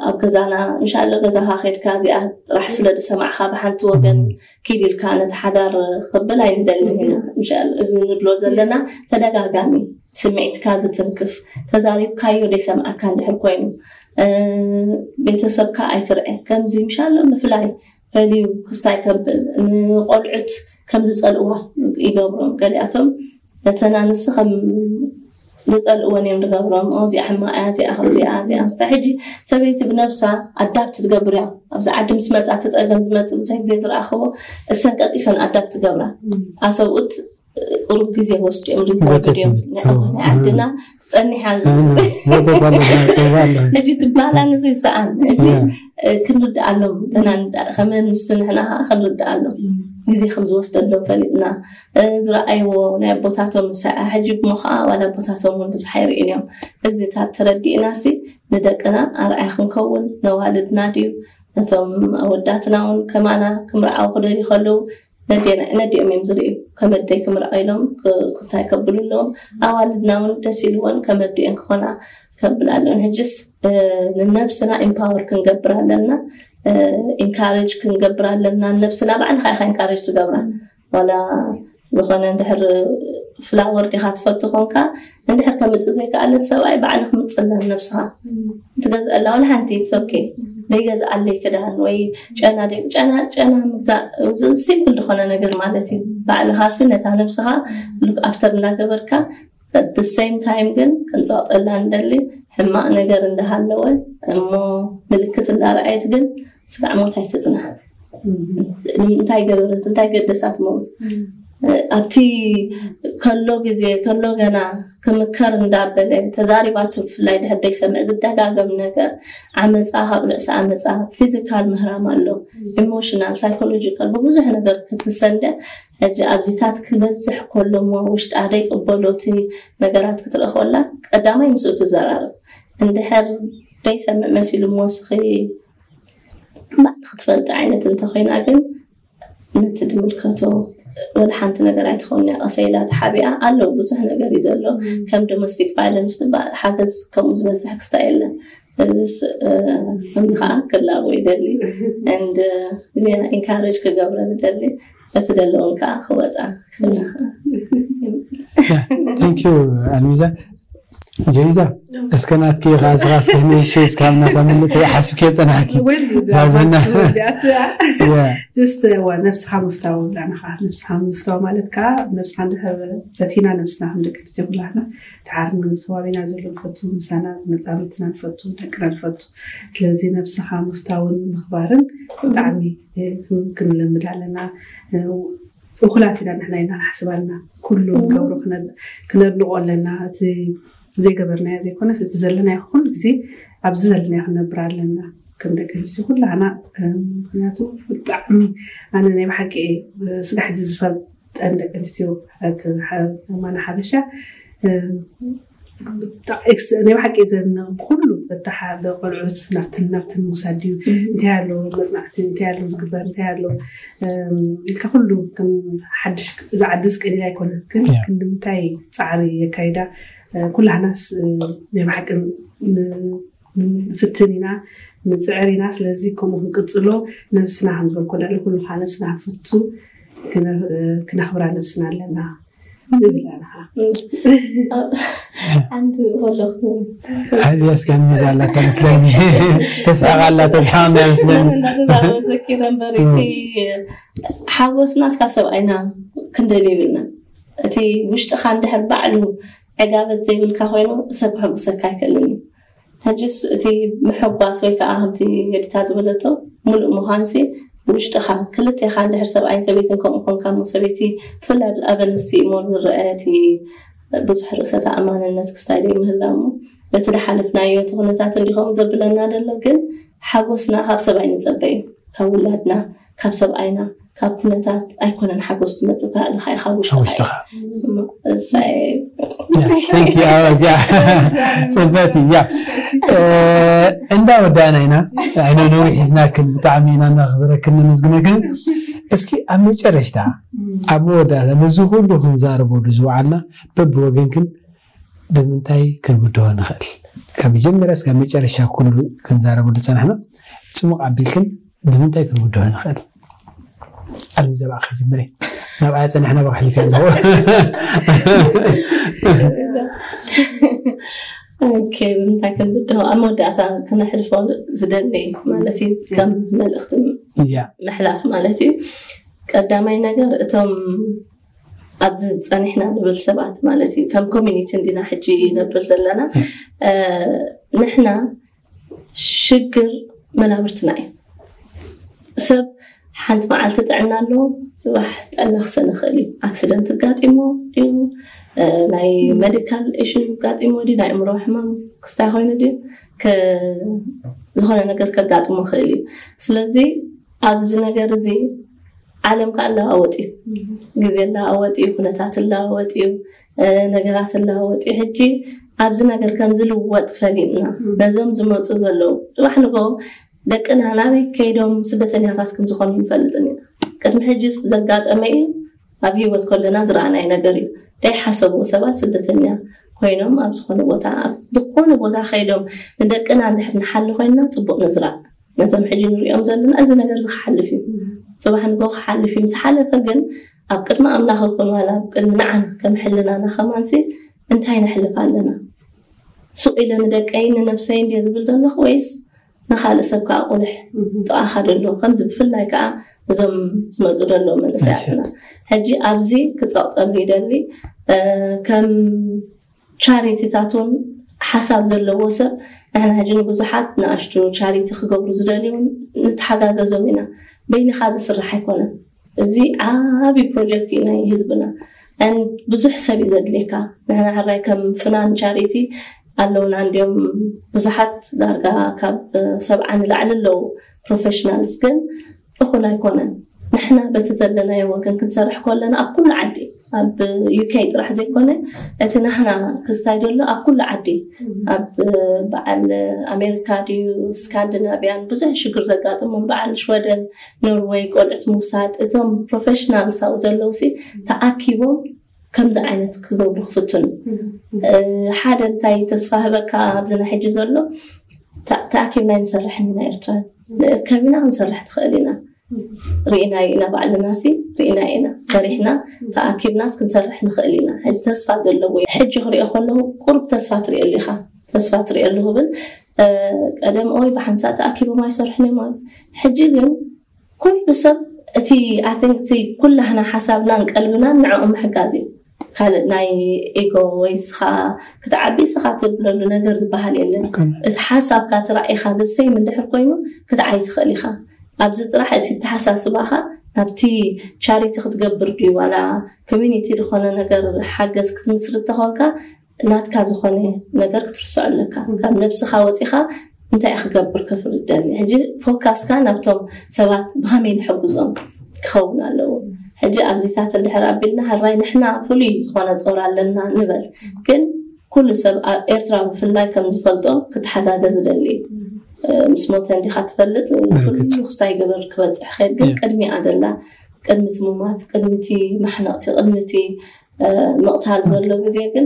ኣብ ገዛና እንሻሎ ገዛኻ ከድካ እዚኣ ጥራሕ ስለ ዝሰማዕካ ብሓንቲ ወገን ኪድ ኢልካ ነቲ ሓዳር ክብል ኣይንደልን ኢና እንሻሎ እዚ ንብሎ ዘለና ተደጋጋሚ ስምዒትካ ዝትንክፍ ተዛሪብካዮ ዘይሰምዓካ እንድሕር ኮይኑ ቤተሰብካ ኣይትርዐ ከምዚ ምሻሎ ምፍላይ ፈልዩ ክስታይ ከብል ንቆልዑት ከም ዝፀልእዋ ይገብሮም ገሊኣቶም ነተን ኣንስቲ ከም ዝፀልእወን እዮም ዝገብሮም እዚኣ ሕማቅ እያ እዚኣ ከምዚኣ እዚኣ ስታ ሕጂ ሰበይቲ ብነብሳ ኣዳፕት ትገብር እያ ኣብዚ ዓዲ ምስ መፃ እቲ ፀገም ዝመፅእ ብዙሕ ግዜ ዝረኣኽዎ እሰን ቀልጢፈን ኣዳፕት ትገብራ ኣሰብኡት ቁሩብ ግዜ ወስዱ እዮም ሪዛይድ እዮም ናይ ዓድና ትፀኒሓ ሕጂ ትባላ ንዚ ይሰኣን እዚ ክንርድኣሎም ተናንዳ ከመንስቲ ንሕና ከዓ ክንርድኣሎም ግዜ ከም ዝወስደሎም ፈሊጥና ዝረኣይዎ ናይ ኣቦታቶም ሰዓ ሕጂ እሞ ከዓ ዋላ ኣቦታቶም እውን ብዙሕ ኣይርእን እዮም እዚታት ተረዲእና ሲ ንደቅና ኣርኣያ ክንከውን ነዋልድና ድዩ ነቶም ኣወዳትና እውን ከማና ክምርዓው ክደልዩ ከለዉ ነዲኦም እዮም ዝርእዩ ከመደይ ክምርዖ ኢሎም ክስታይ ከብሉ ኣለዎም ኣዋልድና እውን ደስ ኢልዎን ከመዲኦን ክኾና ከብል ኣለውን ሕጅስ ንነብስና ኢምፓወር ክንገብር ኣለና ኢንካሬጅ ክንገብር ኣለና ነብስና ባዕልካ ኢካ ኢንካሬጅ ትገብራ ዋላ ዝኾነ እንድሕር ፍላወር ዲካ ትፈቱ ኮንካ እንድሕር ከምፅእ ዘይከኣለት ሰብኣይ ባዕልክ ምፅላ ነብስካ ትገዝአላ ዋላ ሓንቲ ኦኬ ዘይገዝኣለይ ክዳን ወይ ጨና ጨና ጨና ምግዛእ ሲምፕል ዝኾነ ነገር ማለት እዩ ባዕልካ ሲ ነታ ነብስካ ሉክ ኣፍተር እንዳገበርካ the same time ግን ክንፀቕጠላ ንደሊ ሕማቕ ነገር እንዳሃለወ እሞ ምልክት እንዳረኣየት ግን ስጋዕ ሞት ኣይትፅናሕ እንታይ ገበረት እንታይ ገደሳት ሞት ኣብቲ ከሎ ግዜ ከሎ ገና ክምከር እንዳበለ ተዛሪባቱ ብፍላይ ድሕር ደይሰምዕ ዝደጋገም ነገር ዓመፃ ካብ ርእሲ ዓመፃ ፊዚካል ምህራም ኣሎ ኢሞሽናል ሳይኮሎጂካል ብብዙሕ ነገር ክትሰንደ ሕጂ ኣብዚታት ክበዝሕ ከሎ እሞ ውሽጣ ደይቅበሎ እቲ ነገራት ክትርኢ ከላ ቀዳማይ ምስኡ ትዘራረብ እንድሕር ደይሰምዕ መሲሉ እሞ ስኺ ባዕልኺ ትፈልጢ ዓይነት እንተኾይና ግን ነቲ ዝምልከቶ ወላ ሓንቲ ነገር ኣይትኸውን እያ ቀሰ ኢላ ተሓቢኣ ኣለዉ ብዙሕ ነገር እዩ ዘሎ ከም ዶሜስቲክ ቫይለንስ ትበሃል ሓገዝ ከምኡ ዝበዝሕ ክስታ የለን እዚስ ከምዚ ከዓ ክላቦ ይደሊ and ኢንካሬጅ ክገብረ ዝደሊ እቲ ዘለውን ከዓ ክወፃ ክላ thank you ኣልሚዛ ጀይዛ እስከ ናትኪ ከዓ ስኻ እስከ ንእሽተይ እስካብ ናታ ምልእቲ ሓስብኪ ፀናሕኪ ዛዘና ጅስት ዋ ነብስኻ ምፍታው ዳንኻ ነብስኻ ምፍታው ማለት ከዓ ነብስኻ እንድሕር በቲና ነብስና ከም ደቂ ኣንስትዮ ኩላትና ድሓር ንከባቢና ዘሎ ንፈቱ ምሳና ዝመፃ ምትና ንፈቱ ደቅና ንፈቱ ስለዚ ነብስኻ ምፍታውን ምኽባርን ብጣዕሚ ክንለምድ ኣለና እኹላት ኢና ንሕና ኢና ንሓስብ ኣለና ኩሉ ንገብሮ ክነድንቆ ኣለና እቲ ዘይገበርናዮ ዘይኮነስ እቲ ዘለናዮ ኩሉ ግዜ ኣብዚ ዘለናዮ ክንነብር ኣለና ከም ደቂ ኣንስትዮ ኩላና ምክንያቱ ብጣዕሚ ኣነ ናይ ብሓቂ እየ ስጋ ሕጂ ዝፈልጠን ደቂ ኣንስትዮ ማና ሓበሻ ናይ ብሓቂ ዘን ብኩሉ በታሓ ብቆልዑት ናብትን ናብትን ምውሳድ ድዩ እንታይ ኣሎ መፅናዕቲ እንታይ ኣሎ ዝግበር እንታይ ኣሎ ኢልካ ኩሉ ከም ሓድሽ እዛ ዓዲ ዝቀሊል ኣይኮነ ግን ክንዲ ምንታይ ፃዕሪ የካይዳ ኩላህናስ ናይ ብሓቂ ንፍትን ኢና ንፅዕር ኢና ስለዚ ከምኡ ክንቅፅሎ ነብስና ከም ዝበልኮ ልዕሊ ኩሉ ከዓ ነብስና ክንፈቱ ክነኽብራ ነብስና ኣለና ንብል ኣለኻ። ሓንቲ ወለኹ ኣብያስ ጋሚዛ ኣላ ተመስለኒ። ተስሓቕ ኣላ፣ ተስሓቕ ኣላ መስለኒ። እንዳተዛረበዘኪ ነበር እቲ ሓጎስና እስካብ ሰብኣይና ክንደል ይብልና። እቲ ውሽጥኻ እንድሕር ባዕሉ ዕጋበት ዘይብልካ ኮይኑ ሰብ ክሕጉሰካ ኣይክእልን እዩ። ሕጅስ እቲ ምሕጓስ ወይ ከዓ ከምቲ የዲታ ዝበለቶ ሙሉእ ምዃንሲ ውሽጥኻ ክልቴኻ እንድሕር ሰብኣይን ሰበይትን ከምኡ ኮንካ እሞ ሰበይቲ ብፍላይ ኣብ ኣንስቲ እሞ ዝረአ እቲ ብዙሕ ርእሰ ተኣማንነት ክስታይ ዘይምህላ እሞ በቲ ድሓለፍናዮ እቲ ኩነታት እንዲኸም ዘብለና ዘሎ ግን ሓጎስና ካብ ሰብኣይ ንፀበ እዩ ካብ ውላድና ካብ ሰብኣይና ካብ ኩነታት ኣይኮነን ሓጎስ ዝመፅእ ካልእኻ ኢኻ ውሽጥኻ ውሽጥኻ እሳይ ተንኪ ኣዚያ ፅበት እያ እንዳ ወዳእና ኢና። ኣይነ ነዊሕ ሒዝናክን ብጣዕሚ ኢና እናኽብረክን ነመስግነክን። እስኪ ኣብ መጨረሽታ ኣብ መወዳእታ ነዚ ኩሉ ክንዛረበሉ ዝወዓልና በብወገንክን ብምንታይ ክንውድሆ ንኽእል? ካብ መጀመርያ እስካብ መጨረሻ ኩሉ ክንዛረበሉ ዝፀናሕና ፅሙቕ ኣቢልክን ብምንታይ ክንውድሆ ንኽእል? ኣልሚ ዘባዕ ከጅምረ ናብኣ ፀኒሕና ብክሕሊፍ ኣለዎ ኦኬ ብምንታይ ክንብድሆ ኣብ መወዳእታ ክነሕልፎ ዝደሊ ማለት እዩ ከም መልእክቲ እያ ምሕላፍ ማለት እዩ ቀዳማይ ነገር እቶም ኣብዚ ዝፀኒሕና ንብል ሰባት ማለት እዩ ከም ኮሚኒቲ እንዲና ሕጂ ይነብር ዘለና ንሕና ሽግር መናብርትና እዩ ሰብ ሓንቲ መዓልቲ ጥዕና ኣለዎ ፅባሕ ጠና ክሰን ይኽእል እዩ ኣክሲደንት ጋጢሞ ድዩ ናይ ሜዲካል ኢሹ ጋጢሞ ድዩ ናይ እምሮ ሕማም ክስታይ ኮይኑ ድዩ ዝኾነ ነገር ከጋጥሞ ይኽእል እዩ ስለዚ ኣብዚ ነገር እዚ ዓለም ከዓ ኣለዋወጥ እዩ ግዜ ኣለዋወጥ እዩ ኩነታት ኣለዋወጥ እዩ ነገራት ኣለዋወጥ እዩ ሕጂ ኣብዚ ነገር ከም ዝልወጥ ፈሊጥና ነዞም ዝመፁ ዘለዉ ፅባሕ ንጎ ደቅና ናበይ ከይዶም ስደተኛታት ከም ዝኾኑ ንፈልጥን ኢና ቅድሚ ሕጂስ ዘጋጠመ እዩ ኣብ ህይወት ከለና ዝረኣናይ ነገር እዩ ዘይሓሰብዎ ሰባት ስደተኛ ኮይኖም ኣብ ዝኾነ ቦታ ኣብ ዝኾነ ቦታ ከይዶም ንደቅና እንድሕር ንሓሊ ኮይንና ፅቡቅ ንዝራእ ነዞም ሕጂ ንሪኦም ዘለና እዚ ነገር እዚ ክሓልፍ እዩ ፅባሕ ንጎ ክሓልፍ እዩ ምስ ሓለፈ ግን ኣብ ቅድሚ ኣምላኽ ይኹን ዋላ ኣብ ቅድሚ ንዓና ከም ሕልናና ከማንሲ እንታይ ነሕልፍ ኣለና ሱቕ ኢለ ንደቀይ ንነብሰይ እንድየ ዝብል ዘለኹ ወይስ ንኻልእ ሰብ ከዓ ቁልሕ ጥቓኻ ደሎ ከምዚ ብፍላይ ከዓ እዞም ዝመፁ ደሎ መንእሰያትና ሕጂ ኣብዚ ክፀቕጠሉ ይደሊ ከም ቻሪቲታት እውን ሓሳብ ዘለዎ ሰብ ንሕና ሕጂ ንብዙሓት ንኣሽቱ ቻሪቲ ክገብሩ ዝደልዩ ንተሓጋገዞም ኢና በይንኻ ዝስራሕ ኣይኮነን እዚ ዓብዪ ፕሮጀክት እዩ ናይ ህዝብና ብዙሕ ሰብ እዩ ዘድልየካ ንሕና ሕራይ ከም ፍናን ቻሪቲ ኣለውና እንዲም ብዙሓት ዳርጋ ካብ ሰብዓ ንላዕሊ ኣለዉ ፕሮፌሽናልስ ግን እኹል ኣይኮነን ንሕና በቲ ዘለናዮ ወገን ክንሰርሕ ከለና ኣብ ኩሉ ዓዲ ኣብ ዩኬ ጥራሕ ዘይኮነ እቲ ናህና ክስታይ ዘሎ ኣብ ኩሉ ዓዲ ኣብ በዓል ኣሜሪካ ድዩ ስካንዲናቪያን ብዙሕ ሽግር ዘጋጥሞም በዓል ሽወደን ኖርወይ ቆልዑት ምውሳድ እቶም ፕሮፌሽናልስ ኣብኡ ዘለዉ ሲ ተኣኪቦም ከምዚ ዓይነት ክገብሩ ክፍትኑ ሓደ እንታይ ተስፋ ህበካ ኣብዚ ናይ ሕጂ ዘሎ ተኣኪብና ንሰርሕ ኢና ኤርትራ ንእከብ ኢና ክንሰርሕ ንኽእል ኢና ርኢናዮ ኢና ባዕልና ሲ ርኢና ኢና ሰሪሕና ተኣኪብናስ ክንሰርሕ ንኽእል ኢና ሕጂ ተስፋ ዘለዎ ሕጂ ክሪኦ ከለኹ ቁሩብ ተስፋ ትሪኦ ኣሊኻ ተስፋ ትሪኦ ኣሉ ክብል ቀደም ኦይ ብሓንሳእ ተኣኪቦም ኣይሰርሕን እዮም ኣሉ ሕጂ ግን ኩሉ ሰብ እቲ ኣትንቲ ኩላህና ሓሳብናን ቀልብናን ንዕኦም ምሕጋዝ እዩ ካልእ ናይ ኢጎ ወይ ስኻ ክትዓቢ ስኻ ትብለሉ ነገር ዝበሃል የለን እቲ ሓሳብካ ትራእይኻ ዘሰይም እንድሕር ኮይኑ ክትዓይ ትኽእል ኢኻ ኣብዚ ጥራሕ እቲ ተሓሳስባኻ ናብቲ ቻሪቲ ክትገብር ድዩ ዋላ ኮሚኒቲ ዝኾነ ነገር ሓገዝ ክትምስርት ተኾንካ ናትካ ዝኾነ ነገር ክትርስዖ ኣለካ ካብ ነብስኻ ወፂኻ እንታይ ክገብር ክፍል ደሊ ሕጂ ፎካስካ ናብቶም ሰባት ብኸመይ ንሕግዞም ክኸውን ኣለዎ ሕጂ ኣብዚታት እንድሕር ኣቢልና ሕራይ ንሕና ፍሉይ ዝኾነ ፆር ኣለና ንበል ግን ኩሉ ሰብ ኣብ ኤርትራ ብፍላይ ከም ዝፈልጦ ክትሓጋገዝ ደሊ ምስ ሞተ እንዲኻ ትፈልጥ ኩሉ ክስታይ ገበር ክበፅሕ ከይድ ግን ቅድሚኣ ደላ ቅድሚ እቲ ሙማት ቅድሚ እቲ ማሕነቕቲ ቅድሚ እቲ ምቕታል ዘሎ ግዜ ግን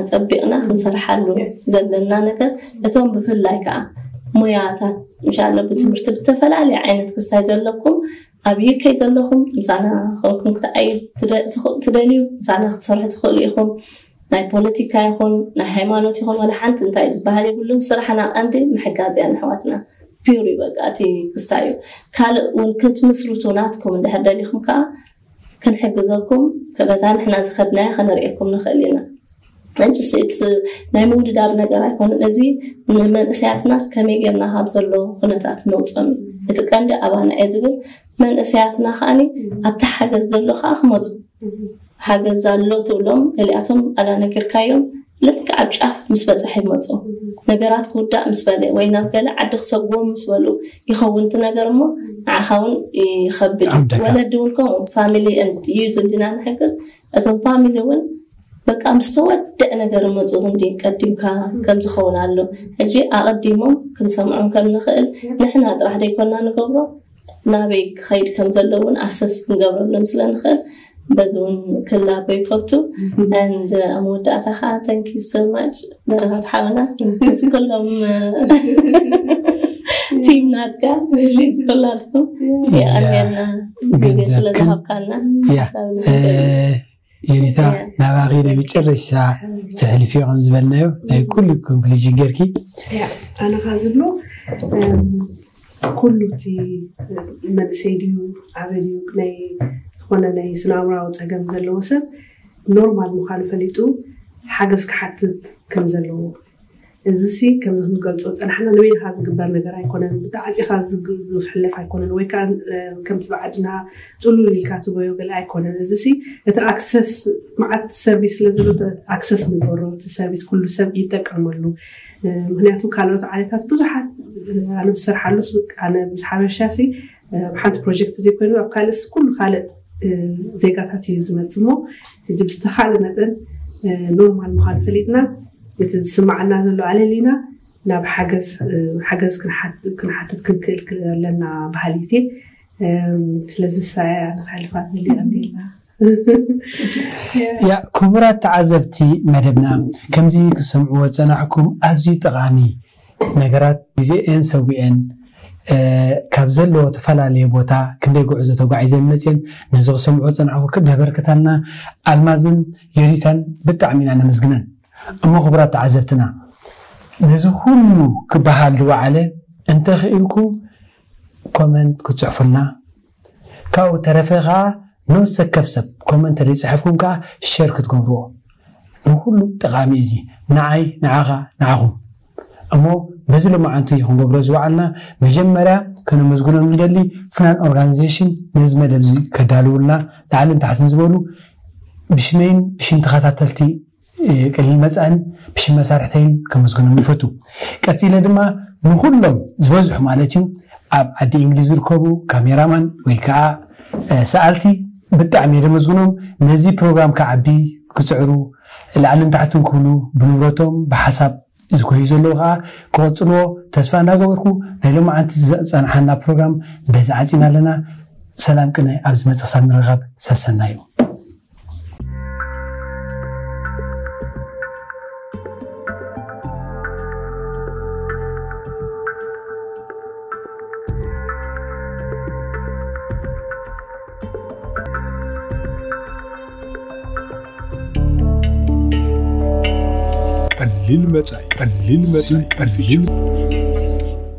ኣፀቢቕና ክንሰርሓሉ ዘለና ነገር እቶም ብፍላይ ከዓ ሙያታት እንሻላ ብትምህርቲ ብተፈላለየ ዓይነት ክስታይ ዘለኩም ኣብ ዩኬ ዘለኹም ምሳና ኮንኩም ክትዓዩ ትደ- ትኽ- ትደልዩ፣ ምሳና ክትሰርሑ ትኽእሉ ኢኹም። ናይ ፖለቲካ ይኹን ናይ ሃይማኖት ይኹን ዋላ ሓንቲ እንታይ ዝበሃል የብሉን። ስራሕና ቀንዲ ምሕጋዝ እያ ንኣሕዋትና። ፒውር እዩ በቃ እቲ ክስታይ እዩ። ካልእ እውን ክትምስርቱ ናትኩም እንድሕር ደሊኹም ከዓ ክንሕግዘኩም፣ ከበታ ንሕና ዝኸድናዮ ከነርእየኩም ንኽእል ኢና። ሕጂ ስ- it's- ናይ ምውድዳር ነገር ኣይኮነን። እዚ ንመንእሰያትናስ ከመይ ጌርና ካብ ዘሎ ኩነታት ነውፅኦም እዩ። እቲ ቀንዲ ኣባና እየ ዝብል። መንእሰያትና ከዓኒ ኣብቲ ሓገዝ ዘሎ ከዓ ክመፁ፣ ሓገዝ ኣሎ ትብሎም፣ ገሊኣቶም ኣላነገርካዮም ልክዕ ኣብ ጫፍ ምስ በፅሐ ይመፁ። ነገራት ክውዳእ ምስ በለ ወይ ናብ ገለ ዓዲ ክሰግዎም ምስ በሉ ይኸውን እቲ ነገር እሞ ንዓኻ እውን ይኸብድ እዩ። ዓብደካ። ወለዲ እውን ከምኡ ፋሚሊ ዩዝ እንዲና ንሕግዝ፣ እቶም ፋሚሊ እውን በቃ ምስ ተወደአ ነገር መፁ እንዲ ቀዲምካ ከም ዝኸውን ኣሎ። ሕጂ ኣቐዲሞም ክንሰምዖም ከም ንኽእል ንሕና ጥራሕ ደይኮና ንገብሮ፣ ናበይ ክኸይድ ከም ዘሎ እውን ኣሰስ ክንገብረሎም ስለ ንኽእል በዚ እውን ክላቦ ይፈቱ። And ኣብ መወዳእታ ከዓ thank you so much ደረኻት ሓውና ምስ ኩሎም ቲም ናትካ ኩላትኩም የቐንየልና ግዜ ስለ ዝሃብካና። ያ የሊታ ናባኺ ናይ መጨረሻ ትሕልፊ ከም ዝበልናዮ ናይ ኩሉ ኮንክሉዥን ጌርኪ። ኣነ ካ ዝብሎ ኩሉ እቲ መንእሰይ ድዩ ኣበይ ድዩ ናይ ዝኾነ ናይ ስነ ኣእምራዊ ፀገም ዘለዎ ሰብ ኖርማል ምዃኑ ፈሊጡ ሓገዝ ክሓትት ከም ዘለዎ፣ እዚ ሲ ከምዚ ክንገልፆ ዝፀናሕና ንበይንኻ ዝግበር ነገር ኣይኮነን። ብተዓፂኻ ዝግ- ዝሕለፍ ኣይኮነን ወይ ከዓ ከምቲ ብዓድና ፅሉል ኢልካ ትጎዮ ገለ ኣይኮነን። እዚ ሲ እቲ ኣክሰስ መዓት ሰርቪስ ስለ ዘሎ ኣክሰስ ንገሮ እቲ ሰርቪስ ኩሉ ሰብ ይጠቀመሉ። ምክንያቱ ካልኦት ዓሌታት ብዙሓት ኣነ ዝሰርሓሉ ኣነ ምስ ሓበሻ ሲ ሓንቲ ፕሮጀክት ዘይኮይኑ ኣብ ካልእስ ኩሉ ካልእ ዜጋታት እዩ ዝመፅ እሞ እዚ ብዝተኻለ መጠን ኖርማል ምዃኑ ፈሊጥና እቲ ዝስማዓና ዘሎ ኣለሊና ናብ ሓገዝ ሓገዝ ክንሓትት ክንክእል ኣለና ባህሊት ስለዚ ሳያ ንካልፋት ዘሊቀኒልና ያ ክቡራት ተዓዘብቲ መደብና ከምዚ ክሰምዕዎ ዝፀናሕኩም ኣዝዩ ጠቓሚ ነገራት ግዜኤን ሰዊኤን ካብ ዘለዎ ተፈላለየ ቦታ ክንደይ ጉዕዞ ተጓዒዘን መፅየን ነዚ ክሰምዕዎ ዝፀናሕኩ ክደበርክታልና ኣልማዝን ዮዲታን ብጣዕሚ ኢና ነመስግነን። እሞ ክቡራት ተዓዘብትና ነዚ ኩሉ ክበሃል ዝወዓለ እንተኽኢልኩም ኮመንት ክትፅሕፉልና ካብኡ ተረፈ ከዓ ንወሰከፍ ሰብ ኮመንት ተደይፅሐፍኩም ከዓ ሸር ክትገብርዎ ንኩሉ ጠቃሚ እዚ ንዓይ ንዓኻ ንዓኹም እሞ በዚ ሎማዓንቲ ክንገብሮ ዝወዓልና መጀመርያ ከነመስግኖም ንደሊ ፍናን ኦርጋናይዜሽን ነዚ መደብ እዚ ከዳልውልና ላዕልን ታሕትን ዝበሉ ብሽመይን ብሽም ተኸታተልቲ ቅልል መፃእን ብሽም መሳርሕተይን ከመስግኖም ይፈቱ ቀፂለ ድማ ንኩሎም ዝበዝሑ ማለት እዩ ኣብ ዓዲ እንግሊዝ ዝርከቡ ካሜራማን ወይ ከዓ ሰኣልቲ ብጣዕሚ የደመስግኖም ነዚ ፕሮግራም ክዓቢ ክፅዕሩ ላዕልን ታሕትን ክብሉ ብንብረቶም ብሓሳብ ዝኮዩ ዘለዉ ከዓ ክቐፅልዎ ተስፋ እንዳገበርኩ ናይ ሎማዓንቲ ዝፀንሓና ፕሮግራም በዚ ዓፂና ኣለና ሰላም ቅነ ኣብ ዝመፅእ ክሳብ ንረኸብ ሰሰናዩ ቀሊል መጻኢ ቀሊል መጻኢ ቀሊል